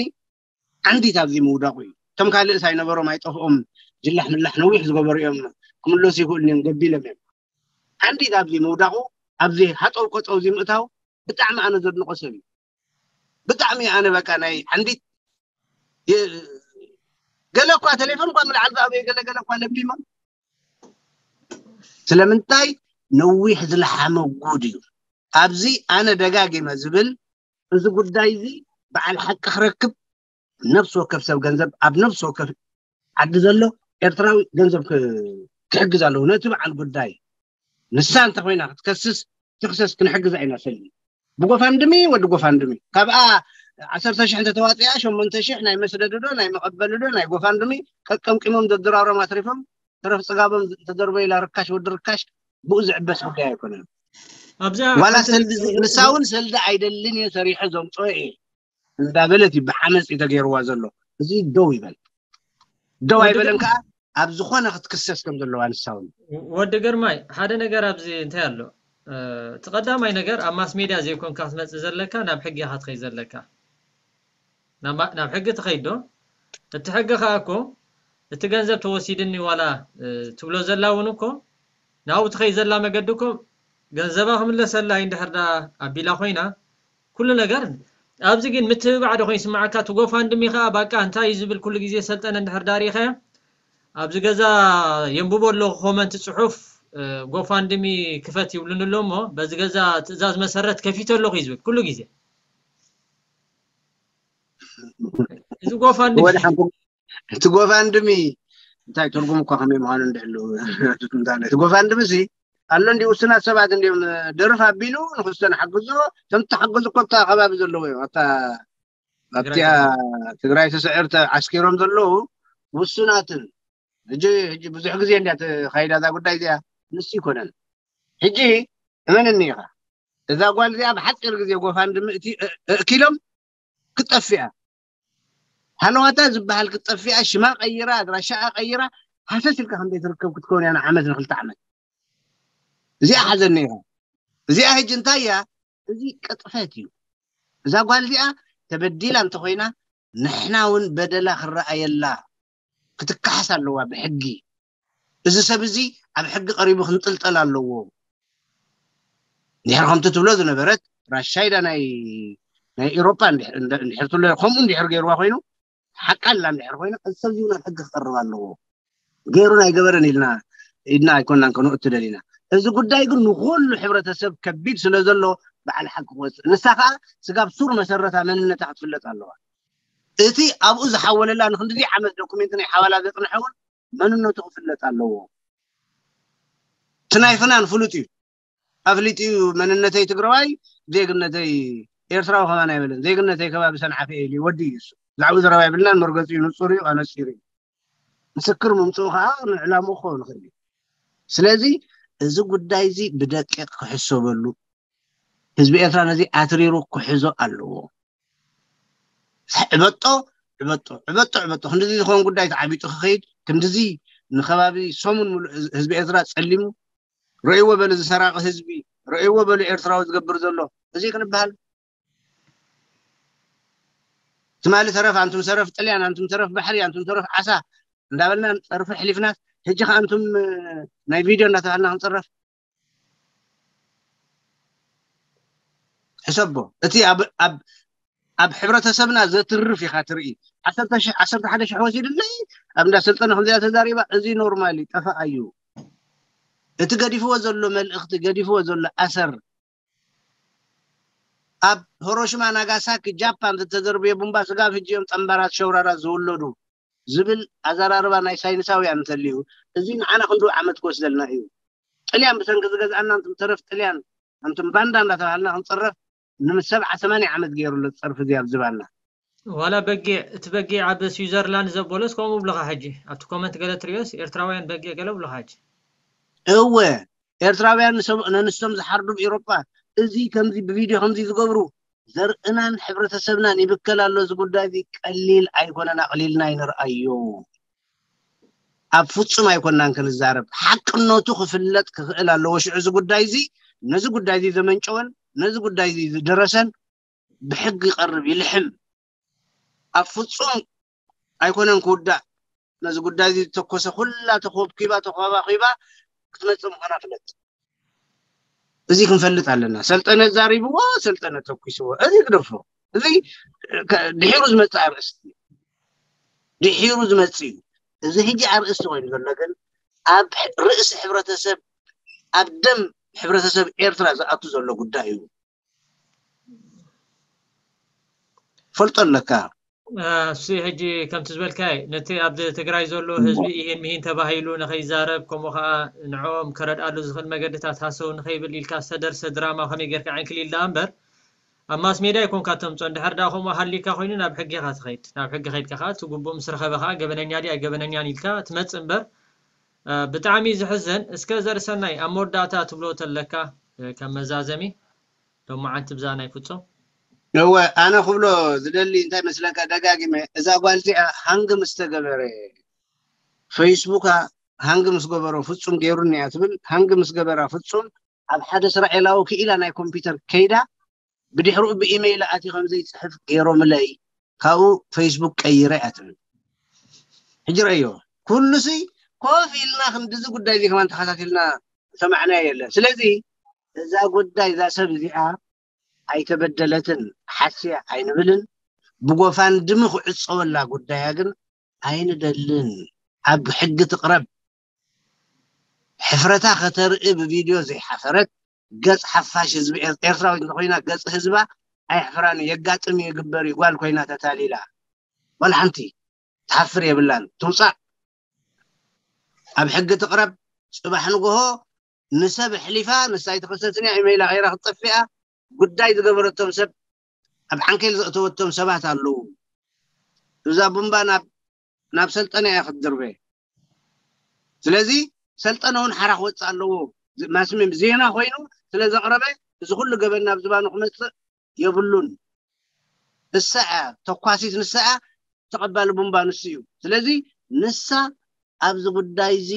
ዓንዲት ኣብዚ ምውዳቑ እዩ። ከም ካልእ ሳይነበሮም ኣይጠፍኦም፣ ጅላሕ ምላሕ ነዊሕ ዝገበሩ እዮም፣ ክምለሱ ይኽእሉ እዮም፣ ገቢሎም እዮም። ዓንዲት ኣብዚ ምውዳቑ፣ ኣብዚ ሃጠው ቀጠው እዚ ምእታው ብጣዕሚ ኣነ ዘድንቆ ሰብ እዩ። ብጣዕሚ ኣነ በቃ ናይ ዓንዲት የ- ገለ እኳ ቴሌፎን እኳ ምልዓል ዝኣበዩ ገለ ገለ እኳ ለቢሞም። ስለምንታይ ነዊሕ ዝለሓመ ጉድ እዩ። ኣብዚ ኣነ ደጋጊመ ዝብል እዚ ጉዳይ እዚ በዓል ሓቂ ክረክብ ነፍሲ ወከፍ ሰብ ገንዘብ ኣብ ነፍሲ ወከፍ ዓዲ ዘሎ ኤርትራዊ ገንዘብ ክ- ክሕግዝ ኣለዎ። ነቲ በዓል ጉዳይ ንሳ እንተኮይና ክትከስስ ትክሰስ፣ ክንሕግዛ ኢና። ሰሊ ብጎፋንድሚ ወዲ ጎፋንድሚ ካብኣ ዓሰርተ ሽሕ እንተተዋፅያ ሸሞንተ ሽሕ ናይ መስደድዶ ናይ መቐበልዶ ናይ ጎፋንድሚ ቀቀምቂሞም ዘድራሮም ኣትሪፎም ተረፍ ፅጋቦም ተደርቦ ኢላ ርካሽ ወዲ ርካሽ ብኡ ዝዕበስ ጉዳይ ኣይኮነን። ኣብዛ ዋላ ሓንቲ ሰልዲ ንሳ እውን ሰልዲ ኣይደልን እየ ሰሪሐ ዘምፅኦ እየ እንዳበለት እዩ ብዓመፅ እዩ ተገይርዋ ዘሎ። እዚ ደው ይበል። ደው ኣይበለን ከዓ ኣብ ዝኾነ ክትክሰስ ከም ዘለዋ ንሳ እውን ወዲ ግርማይ ሓደ ነገር ኣብዚ እንታይ ኣሎ? እቲ ቀዳማይ ነገር ኣብ ማስ ሜድያ ዘይኮንካ ክትመፅእ ዘለካ ናብ ሕጊ ኢኻ ትኸይድ ዘለካ። ናብ ናብ ሕጊ ትኸይድ ዶ? እቲ ሕጊ ከዓ እኮ እቲ ገንዘብ ተወሲድኒ ዋላ ትብሎ ዘላ እውን እኮ ናብኡ ትኸይድ ዘላ መገዲ እኮ ገንዘባ ክምለሰላ እዩ። እንድሕር ዳ ኣቢላ ኮይና ኩሉ ነገር ኣብዚ ግን ምትብባዕ ዶ ኮይኑ ይስምዓካ? እቲ ጎፋንድሚ ከዓ ባቃ እንታይ እዩ ዝብል ኩሉ ግዜ ሰልጠነ እንድሕር ዳ ሪኢኻዮ ኣብዚ ገዛ የንብቦ ኣለኹ ኮመንት ፅሑፍ ጎፋንድሚ ክፈት ይብሉን ኣሎ እሞ በዚ ገዛ ትእዛዝ መሰረት ከፊተ ኣለኹ እዩ ዝብል ኩሉ ግዜ። እዚ ጎፋንድሚ ወደ ሓንኩም እቲ ጎፋንድሚ እንታይ ትርጉም እኳ ከመይ ምዃኑ እንድሕሉ እቲ ጎፋንድሚ ሲ ኣሎ እንዲ ውስናት ሰባት እንዲም ደርፍ ኣቢሉ ንክስቶ ንሓግዞ ከም ተሓግዙ እኮ ኣብታ ከባቢ ዘለዎ እዮም ኣብታ ኣብቲያ ትግራይ ተስዕር ተዓስኪሮም ዘለዉ ውሱናትን ሕጂ ሕጂ ብዙሕ ግዜ እንዲያ ተካይዳ እዛ ጉዳይ እዚኣ ንሱ ይኮነን ሕጂ እመንኒ ኢኻ እዛ ጓል እዚኣ ብሓፂር ግዜ ጎፋንድሚ እቲ እእኪሎም ክትጠፍያ ሃለዋታ ዝበሃል ክትጠፍያ ሽማ ቀይራ ኣድራሻኣ ቀይራ ሃሰስ ኢልካ ከም ዘይትርከብ ክትከውን እያ ንዓመት ንክልተ ዓመት እዚኣ ሓዘኒ ኢኻ እዚኣ ሕጂ እንታይ እያ እዚ ቅጥፈት እዩ እዛ ጓል እዚኣ ተበዲላ እንተኮይና ንሕና እውን በደላ ክረኣየላ ክትከሓስ ኣለዋ ብሕጊ እዚ ሰብ እዚ ኣብ ሕጊ ቀሪቡ ክንጥልጠል ኣለዎ ድሕር ከምቲ ትብሎ ዝነበረት ራሻይዳ ናይ ናይ ኤሮፓ እንድሕር ትብሎ ከምኡ እንድሕር ገይርዋ ኮይኑ ሓቃላ እንድሕር ኮይና እዚ ሰብ እዚ ናብ ሕጊ ክቀርብ ኣለዎ ገይሩ ናይ ገበረን ኢልና ኢድና ኣይኮናን ከነእቱ ደሊና እዚ ጉዳይ ግን ንኩሉ ሕብረተሰብ ከቢድ ስለ ዘሎ በዓል ሓቂ ክወፅእ ንሳ ከዓ ስጋብ ሱር መሰረታ መንነታ ክትፍለጥ ኣለዋ እቲ ኣብኡ ዝሓወለላ ንክንድዚ ዓመት ዶኩሜንት ናይ ሓዋላ ዘፅንሐ እውን መንነቱ ክፍለጥ ኣለዎ እቲ ናይ ፍናን ፍሉጥ እዩ ኣፍሊጡ እዩ መንነተይ ትግራዋይ ዜግነተይ ኤርትራዊ ከማን ኣይበለን ዜግነተይ ከባቢ ሰንዓፈ ኢሉ ወዲ እዩ እሱ ዛዕቡ ዘረባ ይብልናን መርገፂ እዩ ንፁር እዩ ኣነፂሩ እዩ ምስክር ምምፅኡ ከዓ ንዕላምኡ ክኸውን ይኽእል እዩ ስለዚ እዚ ጉዳይ እዚ ብደቂቕ ክሕሰበሉ ህዝቢ ኤርትራ ነዚ ኣትሪሩ ክሕዞ ኣለዎ ዕበጦ ዕበጦ ዕበጦ ዕበጦ ክንድዚ ዝኸውን ጉዳይ ተዓቢጡ ክኸይድ ክንድዚ ንከባቢ ሰሙን ሙሉእ ህዝቢ ኤርትራ ፀሊሙ ረእይዎ በሉ ዝሰራቂ ህዝቢ ረእይዎ በሉ ኤርትራዊ ዝገብር ዘሎ እዚ ክንበሃል ትማሊ ተረፍ ኣንቱም ሰረፍ ጥልያን ኣንቱም ተረፍ ባሕሪ ኣንቱም ተረፍ ዓሳ እንዳበልና ፀርፊ ሕሊፍናት ሕጂ ከ ኣንቱም ናይ ቪድዮ እንዳተባሃልና ክንፅረፍ ሕሰቦ እቲ ኣብ ኣብ ኣብ ሕብረተሰብና ዘትርፍ ኢኻ ትርኢ ዓሰርተ ሽሕ ዓሰርተ ሓደ ሽሕ ወሲድለይ ኣብ እንዳ ሰልጠነ ከምዚኣ ተዛሪባ እዚ ኖርማል እዩ ጠፋእ እዩ እቲ ገዲፍዎ ዘሎ መልእኽቲ ገዲፍዎ ዘሎ ኣሰር ኣብ ሆሮሽማ ናጋሳኪ ጃፓን ዝተዘርብዮ ቡምባ ስጋብ ሕጂ እዮም ጠንባራት ሸውራራት ዝውለዱ ዝብል ኣዘራርባ ናይ ሳይንሳውያን እንተልዩ እዚ ንዓና ክንዱ ዓመት ክወስደልና እዩ ጥልያን ብሰንኪ ዝገዝኣና እንቱም ተረፍ ጥልያን እንቱም ባንዳ እንዳተባሃልና ክንፅረፍ ንሰብዓ ሰማንያ ዓመት ገይሩ ኣሎ ፀርፊ እዚ ኣብ ዝባና ዋላ በጊዕ እቲ በጊዕ ኣብ ስዊዘርላንድ ዘበሎስ ከምኡ ብለኻ ሕጂ ኣብቲ ኮመንት ገለ ትሪኦስ ኤርትራውያን በጊዕ ገለ ብለኻ ሕጂ እወ ኤርትራውያን ንሰብ- ነንሶም ዝሓርዱ ኣብ ኤሮጳ እዚ ከምዚ ብቪድዮ ከምዚ ዝገብሩ ዘርእናን ሕብረተሰብናን ይብከል ኣሎ። እዚ ጉዳይ እዚ ቀሊል ኣይኮነን፣ ኣቕሊልና ኣይንርኣዮ። ኣብ ፍጹም ኣይኮናን ክንዛረብ። ሓቅነቱ ክፍለጥ ክኽእል ኣለዎ። ሽዑ እዚ ጉዳይ እዚ፣ ነዚ ጉዳይ እዚ ዘመንጨወን ነዚ ጉዳይ እዚ ዝደረሰን ብሕጊ ይቐርብ፣ ይልሕም። ኣብ ፍጹም ኣይኮነን ክውዳእ። ነዚ ጉዳይ እዚ ዝተኮሰ ኩላ ተኾብኪባ ተኾባኺባ ክትመጽእ ምዃና ፍለጥ። እዚ ክንፈልጥ ኣለና። ሰልጠነ ዛሪብዎ፣ ሰልጠነ ተኩስዎ። እዚ ግደፎ። እዚ ከ- ድሒሩ ዝመጽእ ኣርእስቲ እዩ። ድሒሩ ዝመጽእ እዩ። እዚ ሕጂ ኣርእስቲ ኮይኑ ዘሎ ግን ኣብ ሕ- ርእሲ ሕብረተሰብ፣ ኣብ ደም ሕብረተሰብ ኤርትራ ዝኣቱ ዘሎ ጉዳይ እዩ። ፈልጦ ኣለካ። እሱ ሕጂ ከምቲ ዝበልካ ነቲ ኣብ ትግራይ ዘሎ ህዝቢ ይሄን ሚሂን ተባሂሉ ንኸይዛረብ፣ ከምኡ ከዓ ንዕኦም ከረድኣሉ ዝኽእል መገድታት ሃሰው ንኸይብል ኢልካ ዝተደርሰ ድራማ ከመይ ጌርካ ዕንክሊል ደኣ እምበር፣ ኣብ ማስ ሜድያ ኣይኮንካ ተምፅኦ። እንድሕር ደኣ ከምኡ ሃሊካ ኮይኑ ናብ ሕጊ ኢኻ ትኸይድ። ናብ ሕጊ ከይድካ ከዓ እቲ ግቡእ ምስ ረኸበ ከዓ ገበነኛ ድያ ገበነኛን ኢልካ ትመፅእ እምበር፣ እ፣ ብጣዕሚ እዩ ዝሕዝን። እስከ ዘርእሰናይ ኣብ መወዳእታ ትብሎ ተለካ፣ እ፣ ከም መዛዘሚ ሎማዓንቲ ብዛ ናይ ፍጹም እወ፣ ኣነ ክብሎ ዝደሊ እንታይ መስለካ፣ ደጋጊመ እዛ ጓል እዚኣ ሃንግ ምስ ተገበረ፣ ፌስቡካ ሃንግ ምስ ገበሮ ፍጹም ገይሩኒ እያ ትብል። ሃንግ ምስ ገበራ ፍጹም ኣብ ሓደ እስራኤላዊ ክኢላ ናይ ኮምፒውተር ከይዳ፣ ብድሕሪኡ ብኢሜይል ኣትዩ ከም ዘይጽሕፍ ገይሮምለይ፣ ካብኡ ፌስቡክ ቀይረ እያ ትብል። ሕጂ ረእዮ፣ ኩሉሲ ኮፍ ኢልና ክንድዚ ጉዳይ እዚ ከማን ተኸታቲልና ሰማዕናዮ የለን። ስለዚ እዛ ጉዳይ እዛ ሰብ እዚኣ ኣይተበደለትን ሓስያ ኣይንብልን። ብጎፋንድሚ ክዕፀወላ ጉዳያ ግን ኣይንደልን። ኣብ ሕጊ ትቕረብ። ሕፍረታ ከተርኢ ብቪድዮ ዘይሓፈረት ገፅ ሓፋሽ ህዝቢ ኤር- ኤርትራዊት እንተኮይና ገፅ ህዝባ ኣይሕፍራን እዩ። የጋጥም እዩ፣ ይግበር እዩ። ጓል ኮይና ተታሊላ ዋላ ሓንቲ ትሓፍር የብላን። ትውፃእ፣ ኣብ ሕጊ ትቕረብ። ፅባሕ ንግሆ ንሰብ ኣሕሊፋ ንሳ ኣይተኸሰስን እያ፣ ኢመይላ ቀይራ ክትጠፍእ እያ። ጉዳይ ዝገበረቶም ሰብ ኣብ ዓንኬል ዘእተወቶም ሰባት ኣለዉ። እዛ ቡምባ ናብ ናብ ሰልጠነ እያ ክትድርበ። ስለዚ ሰልጠነ እውን ሓራ ክወፅእ ኣለዎ። ማስሚም ዜና ኮይኑ ስለ ዘቕረበ እዚ ኩሉ ገበን ናብ ዝባኑ ክመፅእ የብሉን። እሳ እያ ተኳሲት፣ ንሳ እያ ተቐባሊ ቡምባ ንሱ እዩ። ስለዚ ንሳ ኣብዚ ጉዳይ እዚ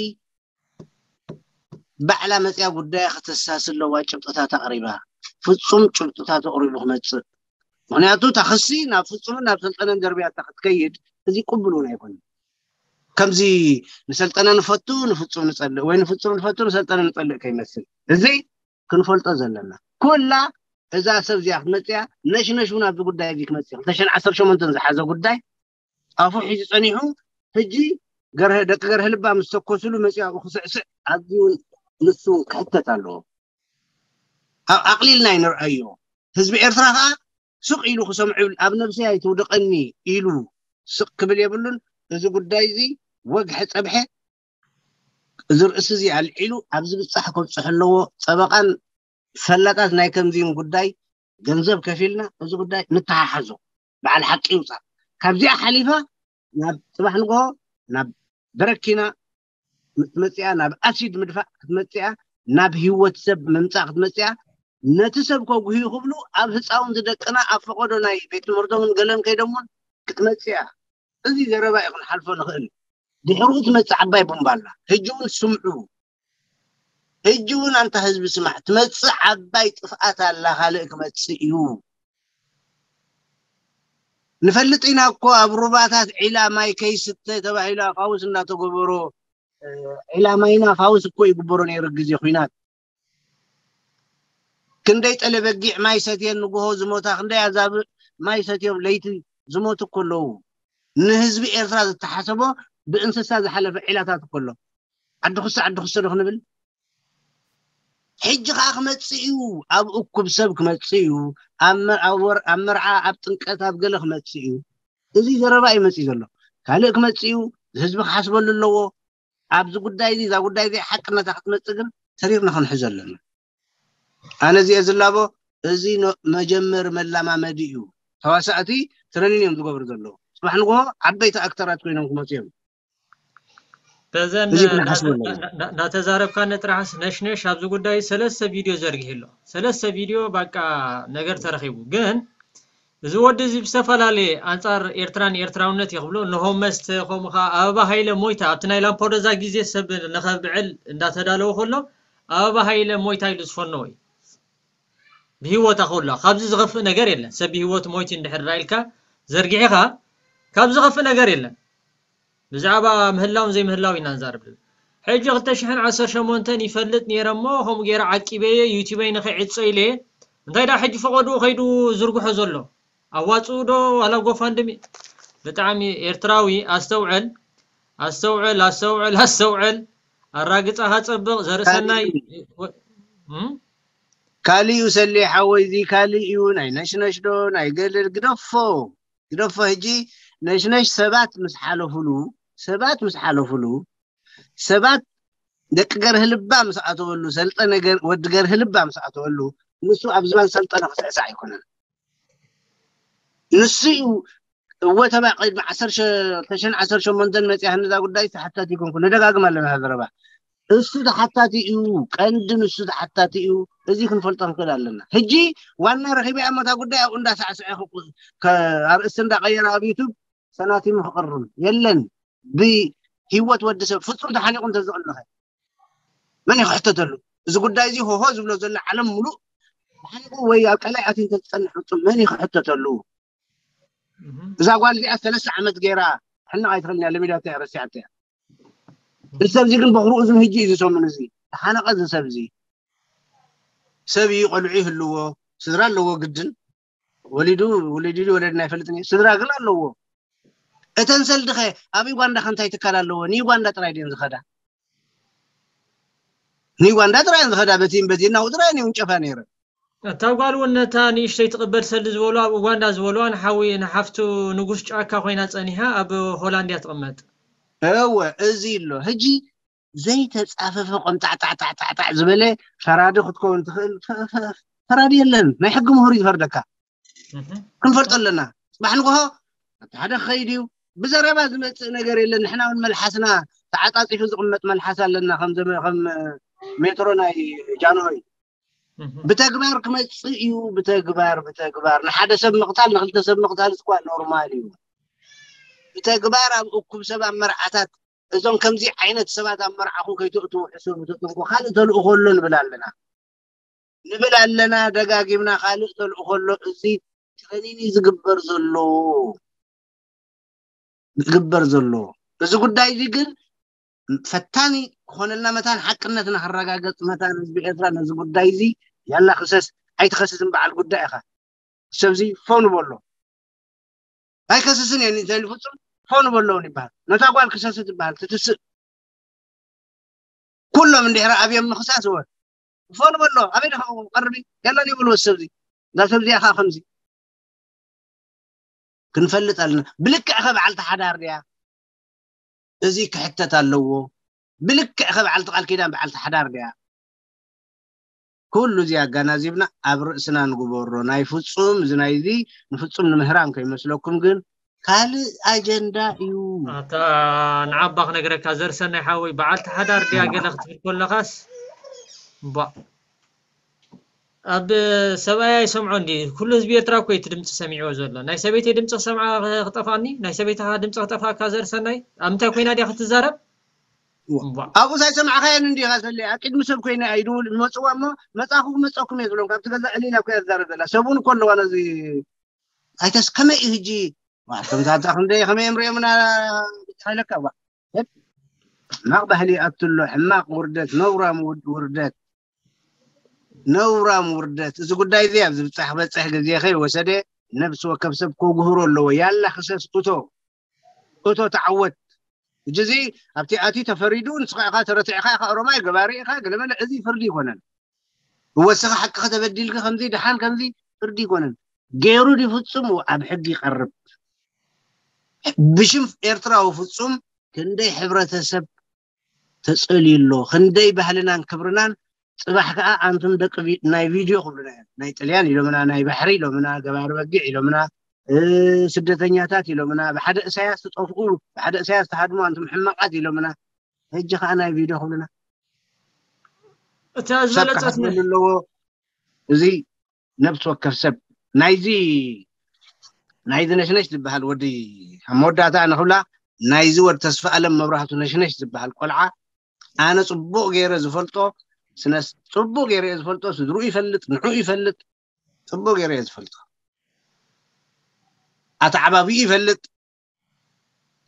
ባዕላ መፅያ ጉዳያ ከተሳሲ ኣለዋ። ጭብጥታት ኣቕሪባ፣ ፍፁም ጭብጥታት ኣቕሪቡ ክመፅእ። ምክንያቱ እታ ክሲ ናብ ፍፁምን ናብ ሰልጠነን ደርብያታ ክትከይድ እዚ ቅቡል እውን ኣይኮነን። ከምዚ ንሰልጠነ ንፈቱ ንፍፁም ንፀልእ ወይ ንፍፁም ንፈቱ ንሰልጠነ ንፀልእ ከይመስል፣ እዚ ክንፈልጦ ዘለና ኩላ እዛ ሰብ እዚኣ ክትመፅያ ነሽነሽ እውን ኣብዚ ጉዳይ እዚ ክመፅእ ክልተ ሽሕን ዓሰርተ ሸሞንተን ዝሓዘ ጉዳይ ኣፉ ሒዙ ፀኒሑ ሕጂ ገርሀ ደቂ ገርሀ ልባ ምስ ተኮስሉ መፂኡ ኣብኡ ክስዕስዕ ኣዝዩ እውን ንሱ እውን ክሕተት ኣለዎ። ኣብ ኣቕሊልና ኣይንርኣዮ። ህዝቢ ኤርትራ ከዓ ስቕ ኢሉ ክሰምዑ ይብል። ኣብ ነብሰይ ኣይትውድቐኒ ኢሉ ስቕ ክብል የብሉን። እዚ ጉዳይ እዚ ወግሐ ጸብሐ እዚ ርእሲ እዚ ኣልዒሉ ኣብዚ ብጻሕ ከብጽሕ ኣለዎ። ጸበቓን ፈላጣት ናይ ከምዚን ጉዳይ ገንዘብ ከፊልና እዚ ጉዳይ ንተሓሓዞ። በዓል ሓቂ ይውጻእ። ካብዚኣ ሓሊፋ ናብ ጽባሕ ንግሆ ናብ በረኪና ክትመጽእ እያ፣ ናብ ኣሲድ ምድፋእ ክትመጽእ እያ፣ ናብ ህይወት ሰብ ምምጻእ ክትመጽእ እያ። ነቲ ሰብ ከጉህዩ ክብሉ ኣብ ህፃውንቲ ደቅና ኣብ ፈቐዶ ናይ ቤት ትምህርቶምን ገለን ከይዶም እውን ክትመጽእ እያ። እዚ ዘረባ እዩ ክንሓልፎ ንኽእል። ድሕሪኡ ትመጽእ ዓባይ ቡምባ ኣላ። ሕጂ እውን ስምዑ። ሕጂ እውን ኣንታ ህዝቢ ስማዕ፣ ትመጽእ ዓባይ ጥፍኣት ኣላ፣ ካልእ ክመጽእ እዩ። ንፈልጥ ኢና እኮ ኣብ ሩባታት ዒላ ማይ ከይስተ ተባሂሉ ኣፋውስ እናተገበሮ፣ እ፣ ዒላ ማይና ፋውስ እኮ ይግበሮ ነይሩ ግዜ ኹናት። ክንደይ ጠለ በጊዕ ማይ ሰትየን ንግሆ ዝሞታ፣ ክንደይ ኣዛብእ ማይ ሰትዮም ለይቲ ዝሞቱ እኮ ኣለዉ። ንህዝቢ ኤርትራ ዝተሓሰቦ ብእንስሳ ዝሓለፈ ዒላታት እኮ ኣሎ። ዓዲ ክሶ ዓዲ ክሶ ዶ ክንብል? ሕጂ ከዓ ክመጽእ እዩ፣ ኣብ እኩብ ሰብ ክመጽእ እዩ፣ ኣብ መ- ኣብ ወር- ኣብ መርዓ ኣብ ጥምቀት ኣብ ገለ ክመጽእ እዩ። እዚ ዘረባ እዩ መጽእ ዘሎ። ካልእ ክመጽእ እዩ፣ ህዝቢ ክሓስበሉ ኣለዎ። ኣብዚ ጉዳይ እዚ እዛ ጉዳይ እዚ ሓቅነታ ክትመጽእ ግን ተሪርና ክንሕዞ ኣለና። ኣነ እዚአ ዝላቦ እዚ ኖ- መጀመሪ መላማመዲ እዩ። ተዋሳእቲ ትረኒን እዮም ዝገብሩ ዘለዉ። ጽባሕ ንግሆ ዓበይቲ ኣክተራት ኮይኖም ክመጹ እዮም። በዘን እዚ ክንሓስበሉ ኣለና። ናተዛረብካኒ ጥራሕስ ነሽነሽ ኣብዚ ጉዳይ ሰለስተ ቪድዮ ዘርጊሑ ኣሎ። ሰለስተ ቪድዮ ባቃ ነገር ተረኺቡ። ግን እዚ ወዲ እዚ ብዝተፈላለየ ኣንጻር ኤርትራን ኤርትራውነት እዩ ክብሎ፣ ንሆመስት ከምኡ ኸዓ ኣበባ ሃይለ ሞይታ ኣብቲ ናይ ላምፖዶዛ ግዜ ሰብ ንኸብዕል እንዳተዳለወ ከሎ ኣበባ ሃይለ ሞይታ ኢሉ ዝፈነወ እዩ። ብህይወታ ከላ ካብዚ ዝኸፍእ ነገር የለን። ሰብ ብህይወት ሞይቱ እንድሕር ዳ ኢልካ ዘርጊሕኻ ካብዚ ዝኸፍእ ነገር የለን። ብዛዕባ ምህላውን ዘይምህላው ኢና ንዛረብ ዘለና። ሕጂ ክልተ ሽሕን ዓሰርተ ሸሞንተን ይፈልጥ ነይረ እሞ ከምኡ ገይረ ዓቂበየ ዩቲበይ ንኸይዕጾ ኢለ እንታይ ዳ ሕጂ ፈቐድኡ ከይዱ ዝርግሖ ዘሎ? ኣዋጽኡ ዶ ዋላ ጎፋንድሚ? ብጣዕሚ ኤርትራዊ ኣስተውዕል ኣስተውዕል ኣስተውዕል ኣስተውዕል ኣራግጻኻ ጸብቕ ዘርእሰናይ ካልእ እዩ ሰሌ ሓወይ፣ እዚ ካልእ እዩ። ናይ ነሽነሽ ዶ ናይ ገለ ግደፎ ግደፎ። ሕጂ ነሽነሽ ሰባት ምስ ሓለፉሉ ሰባት ምስ ሓለፉሉ ሰባት ደቂ ገርህ ልባ ምስ ኣተወሉ ሰልጠነ ወዲ ገርህ ልባ ምስ ኣተወሉ ንሱ ኣብ ዝባን ሰልጠነ ክስዕሳዕ ኣይኮነን። ንሱ እዩ እወ ተባ ቅድሚ ዓሰርተ ሸሞንተን መፅያ ህንዛ ጉዳይ ተሓታቲ ይኮንኩ ንደጋግም ኣለና ዘረባ እሱ ተሓታቲ እዩ። ቀንዲ ንሱ ተሓታቲ እዩ። እዚ ክንፈልጦ ክንክእል ኣለና። ሕጂ ዋና ረኪበ ኣመታ ጉዳይ ኣብኡ እንዳሳዕስዐ ኣርእስቲ እንዳቀየረ ኣብ ዩቱብ ሰናቲሙ ክቕርም የለን። ብህይወት ወዲ ሰብ ፍጹም ተሓኒቑ እንተዝቕልኸ መን ይክሕተተሉ? እዚ ጉዳይ እዚ ሆሆ ዝብሎ ዘሎ ዓለም ሙሉእ ተሓኒቑ ወይ ኣብ ቀላይ ኣትዩ እንተዝጸንሕ ፍጹም መን ይክሕተተሉ? እዛ ጓል እዚኣ ሰለስተ ዓመት ገይራ ሕነቕ ኣይትኽእልን እያ። ለሚዳቶ እያ ረሲዓቶ እያ። እዚ ሰብ እዚ ግን በኽሩ እዝን ህጂ እዩ ዝሰሙን። እዚ ተሓነቐ እዚ ሰብ እዚ ሰብ እዩ፣ ቆልዑ ይህልዎ፣ ስድራ ኣለዎ ግድን ወሊዱ ውልድ ወለድና ይፈልጥን እዩ። ስድራ ግን ኣለዎ። እተን ሰልዲ ኸ ኣብ ዩጋንዳ ከ እንታይ ትካል ኣለዎ? ንዩጋንዳ ጥራይ ድየን ዝኸዳ? ንዩጋንዳ ጥራይ እየን ዝኸዳ። በቲን በቲን ናብኡ ጥራይ እየን ይውንጨፋ ነይረን። እታ ጓል እውን ነታ ንእሽተይ ትቕበል ሰልዲ ዝበሉ ኣብ ኡጋንዳ ዝበሉዋ ንሓዊ ንሓፍቱ ንጉስ ጫካ ኮይና ጸኒሓ ኣብ ሆላንድ እያ ትቕመጥ። እወ እዚ ኣሎ ሕጂ ዘይተጻፈፈ ቆምጣዕጣዕጣዕጣዕ ዝበለ ፈራዲ ክትከውን ትኽእል ፈራዲ የለን። ናይ ሕጊ ምሁር እዩ ዝፈርደካ። ክንፈልጦ ኣለና። ጽባሕ ንግሆ እቲ ሓደ ክኸይድ እዩ። ብዘረባ ዝመጽእ ነገር የለን። ንሕና እውን መልሓስና ተዓጻጺፉ ዝቕመጥ መልሓስ ኣለና። ከም ሜትሮ ናይ ጃንሆይ ብተግባር ክመጽእ እዩ። ብተግባር ብተግባር ንሓደ ሰብ ምቕታል ንክልተ ሰብ ምቕታል እኳ ኖርማል እዩ። ብተግባር ኣብ እኩብ ሰብ ኣብ መርዓታት እዞም ከምዚ ዓይነት ሰባት ኣብ መርዓኹም ከይትእትዉ ሕሰቡ፣ ተጠንቀቑ፣ ካልእ ተልእኾ ኣሎ ንብል ኣለና ንብል ኣለና ደጋጊምና። ካልእ ተልእኾ ኣሎ። እዚ ትረኒኒ ዝግበር ዘሎ ዝግበር ዘሎ እዚ ጉዳይ እዚ ግን ፈታኒ ክኾነልና መታን ሓቅነትና ክረጋገጽ መታን ህዝቢ ኤርትራ ነዚ ጉዳይ እዚ ያላ ክሰስ ኣይትኸስስን በዓል ጉዳይ ኢኻ። ሰብዚ ፎኑ በሎ ኣይከስስን እየ ንዘይሉ ፍጹም ፎኑ በሎ እውን ይበሃል። ነታ ጓል ክሰስ ትበሃል ትትስእ ኩሎም እንድሕር ኣብዮም ምኽሳስ እወ ፎኑ በሎ ኣበይ ደኸ ቀርቢ ያላ ይበልዎ ሰብዚ እዛ ሰብዚኣ ከዓ ከምዚ ክንፈልጥ ኣለና። ብልክዕ ከ በዓልቲ ሓዳር ድያ? እዚ ክሕተት ኣለዎ። ብልክዕ ከ በዓልቲ ቃል ኪዳን በዓልቲ ሓዳር ድያ? ኩሉ እዚ ኣጋናዚብና ኣብ ርእስና ንግበሮ። ናይ ፍጹም እዚ ናይ እዚ ንፍጹም ንምህራም ከይመስለኩም ግን ካልእ ኣጀንዳ እዩ። ኣታ ንዓባ ክነግረካ ዘርሰናይ ሓወይ በዓልቲ ሓዳር ድያ ገለ ክትብል ከለኻስ ባ ኣብ ሰብኣይ ኣይሰምዖ እንዲ ኩሉ ህዝቢ ኤርትራ እኮ እቲ ድምፂ ሰሚዕዎ ዘሎ ናይ ሰበይተይ ድምፂ ክሰምዓ ክጠፋኒ ናይ ሰበይትኻ ድምፂ ክጠፋካ ዘርሰናይ ኣብ ምንታይ ኮይና ድያ ክትዛረብ ኣብኡ ሳይሰማዕካየን እንዲኻ ሰለ ኣብ ቅድሚ ሰብ ኮይነ ኣይድውል ዝመፅዋ እሞ መፃኹ ክመፀኩም እየ ዝብሎም ካብቲ ገዛ ዕሊላ እኮ እያ ዝዛረብ ዘላ ሰቡን እኮ ኣለዋ ነዚ ኣይተስ ከመይ እዩ ህጂ ከምዛታ ክንደይ ከመይ እዮም ሪኦምና ኢለካ ሕማቕ ባህሊ ይኣቱ ኣሎ ሕማቕ ውርደት ነውራም ውርደት ነውራም ውርደት እዚ ጉዳይ እዚ ኣብ ዝብፃሕ ክበፅሕ ግዜ ከይወሰደ ነብሲ ወከፍ ሰብ ከጉህሮ ኣለዎ ያላ ክሰስ እቶ እቶ ተዓወት ሕጂ እዚ ኣብቲ ኣትዩ ተፈሪዱ ንስኻ ኢኻ ተረቲዕኻ ኢኻ ኦሮማይ ገባሪ ኢኻ ገለመለ እዚ ፍርዲ ይኮነን እወ እስኻ ሓቅኻ ተበዲልካ ከምዚ ደሓን ከምዚ ፍርዲ ይኮነን ገይሩ ድፍጹም ኣብ ሕጊ ይቀርብ ብሽም ኤርትራዊ ፍጹም ክንደይ ሕብረተሰብ ተጸልዩ ኣሎ ክንደይ ባህልናን ክብርናን ጽባሕ ከዓ ኣንቱም ደቂ ናይ ቪድዮ ክብሉና እዮም ናይ ጥልያን ኢሎምና ናይ ባሕሪ ኢሎምና ገባሪ በጊዕ ኢሎምና ስደተኛታት ኢሎምና ብሓደ እሳያስ ትጠፍኡ ብሓደ እሳያስ ትሃድሙ ኣንቱም ሕማቃት ኢሎምና ሕጂ ከዓ ናይ ቪድዮ ክብሉና እታ ዝበለጸት ኣለዎ እዚ ነብሲ ወከፍ ሰብ ናይዚ ናይዚ ነሽነሽ ዝበሃል ወዲ፣ ኣብ መወዳእታ ኣነ ክብላ፣ ናይዚ ወዲ ተስፋ ኣለም መብራህቱ ነሽነሽ ዝበሃል ቆልዓ ኣነ ጽቡቕ ገይረ ዝፈልጦ፣ ስነ ጽቡቕ ገይረ እየ ዝፈልጦ። ስድርኡ ይፈልጥ፣ ንዕኡ ይፈልጥ፣ ጽቡቕ ገይረ እየ ዝፈልጦ። ኣተዓባቢኡ ይፈልጥ።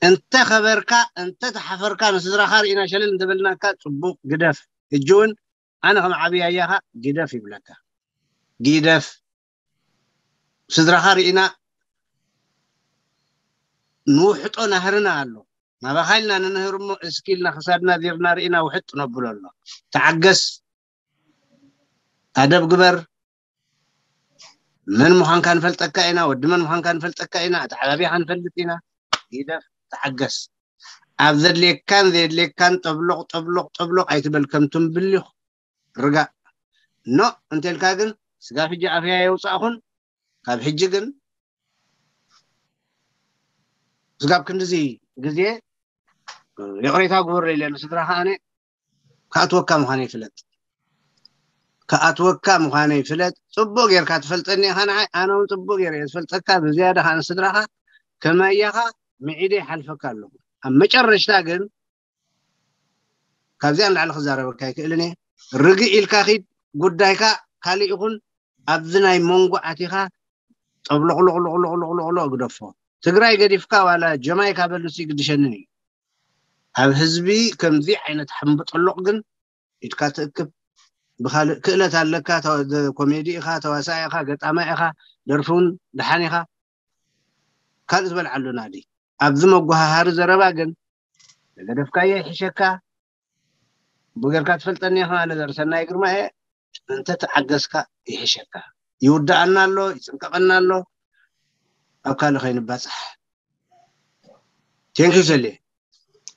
እንተ ኸበርካ፣ እንተ ተሓፈርካ፣ ንስድራኻ ርኢና ሸለል እንተበልናካ፣ ጽቡቕ፣ ግደፍ። ሕጂ እውን ኣነ ከም ዓብያያኻ ግደፍ ይብለካ። ግደፍ። ስድራኻ ርኢና፣ ንውሕጦ ናህርና ኣሎ። ናባኻ ኢልና ንንህር እሞ፣ እስኪ ኢልና ክሳድና ዚርና ርኢና ውሕጥ ነብሎ ኣሎ። ተዓገስ። ኣደብ ግበር። መን ምዃንካ ንፈልጠካ ኢና፣ ወዲ መን ምዃንካ ንፈልጠካ ኢና፣ ኣተዓባቢኻ ንፈልጥ ኢና። ግደፍ፣ ተዓገስ። ኣብ ዘድልየካን ዘየድልየካን ጠብሎቕ፣ ጠብሎቕ፣ ጠብሎቕ ኣይትበል፣ ከም ትምብሊኽ ርጋእ። ኖ እንተልካ ግን፣ ስጋብ ሕጂ ኣፍያ የውጻእኹን፣ ካብ ሕጂ ግን ስጋብ ክንድዚ ግዜ ይቕሬታ ግበረለይ ኢለ ንስድራኻ ኣነ ክኣትወካ ምዃነይ ፍለጥ። ክኣትወካ ምዃነይ ፍለጥ። ጽቡቕ ጌርካ ትፈልጠኒ ኢኻ ንዓይ፣ ኣነ እውን ጽቡቕ ጌረ እየ ዝፈልጠካ። ብዝያዳ ኸኣ ንስድራኻ ከማያኻ ምዒደ ይሓልፈካ ኣለኹ። ኣብ መጨረሽታ ግን ካብዚኣ ንላዕሊ ክዛረበካ ኣይክእልን እየ። ርግእ ኢልካ ኺድ፣ ጉዳይካ ካልእ ይኹን፣ ኣብዚ ናይ መንጎ ኣቲኻ ጠብሎቕሎቕሎቕሎቕሎ ግደፎ። ትግራይ ገዲፍካ ዋላ ጀማይካ በል፣ ንሱ ይግድሸንን እዩ። ኣብ ህዝቢ ከምዚ ዓይነት ሕምብጠሎቕ ግን ኢድካ ትእክብ። ብኻልእ ክእለት ኣለካ፣ ተዋ-፣ ኮሜዲ ኢኻ፣ ተዋሳኢ ኢኻ፣ ገጣማይ ኢኻ፣ ደርፊ እውን ደሓን ኢኻ። ካልእ ዝበልዓሉ ናዲ። ኣብዚ መጓሃሃሪ ዘረባ ግን ዝገደፍካዮ ይሕሸካ። ብገርካ ትፈልጠኒ ኢኻ፣ ኣነ ዘርሰናይ ግርማ እየ። እንተ ተዓገስካ ይሕሸካ። ይውድኣና ኣሎ፣ ይጽንቀቐና ኣሎ። ኣብ ካልእ ከይንባጻሕ። ቴንኪዩ ሰሌ።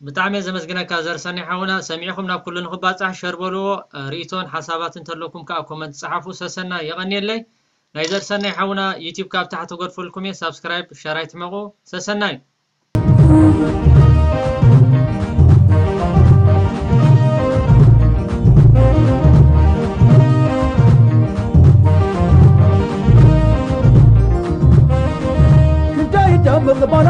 ብጣዕሚ እየ ዘመስግነካ ዘርሰናይ ሓውና። ሰሚዕኹም ናብ ኩሉ ንኽባጻሕ ሸር በልዎ። እ፣ ርእይቶን ሓሳባትን እንተለኩም ከኣ ኮመንት ጸሓፉ። ሰሰናይ፣ የቐንየለይ። ናይ ዘርሰናይ ሓውና ዩቲዩብ ካብ ታሕቲ ገድፈልኩም እየ። ሳብስክራይብ፣ ሸር ኣይትሕመቑ። ሰሰናይ። ክንደይ ደምቕ ባና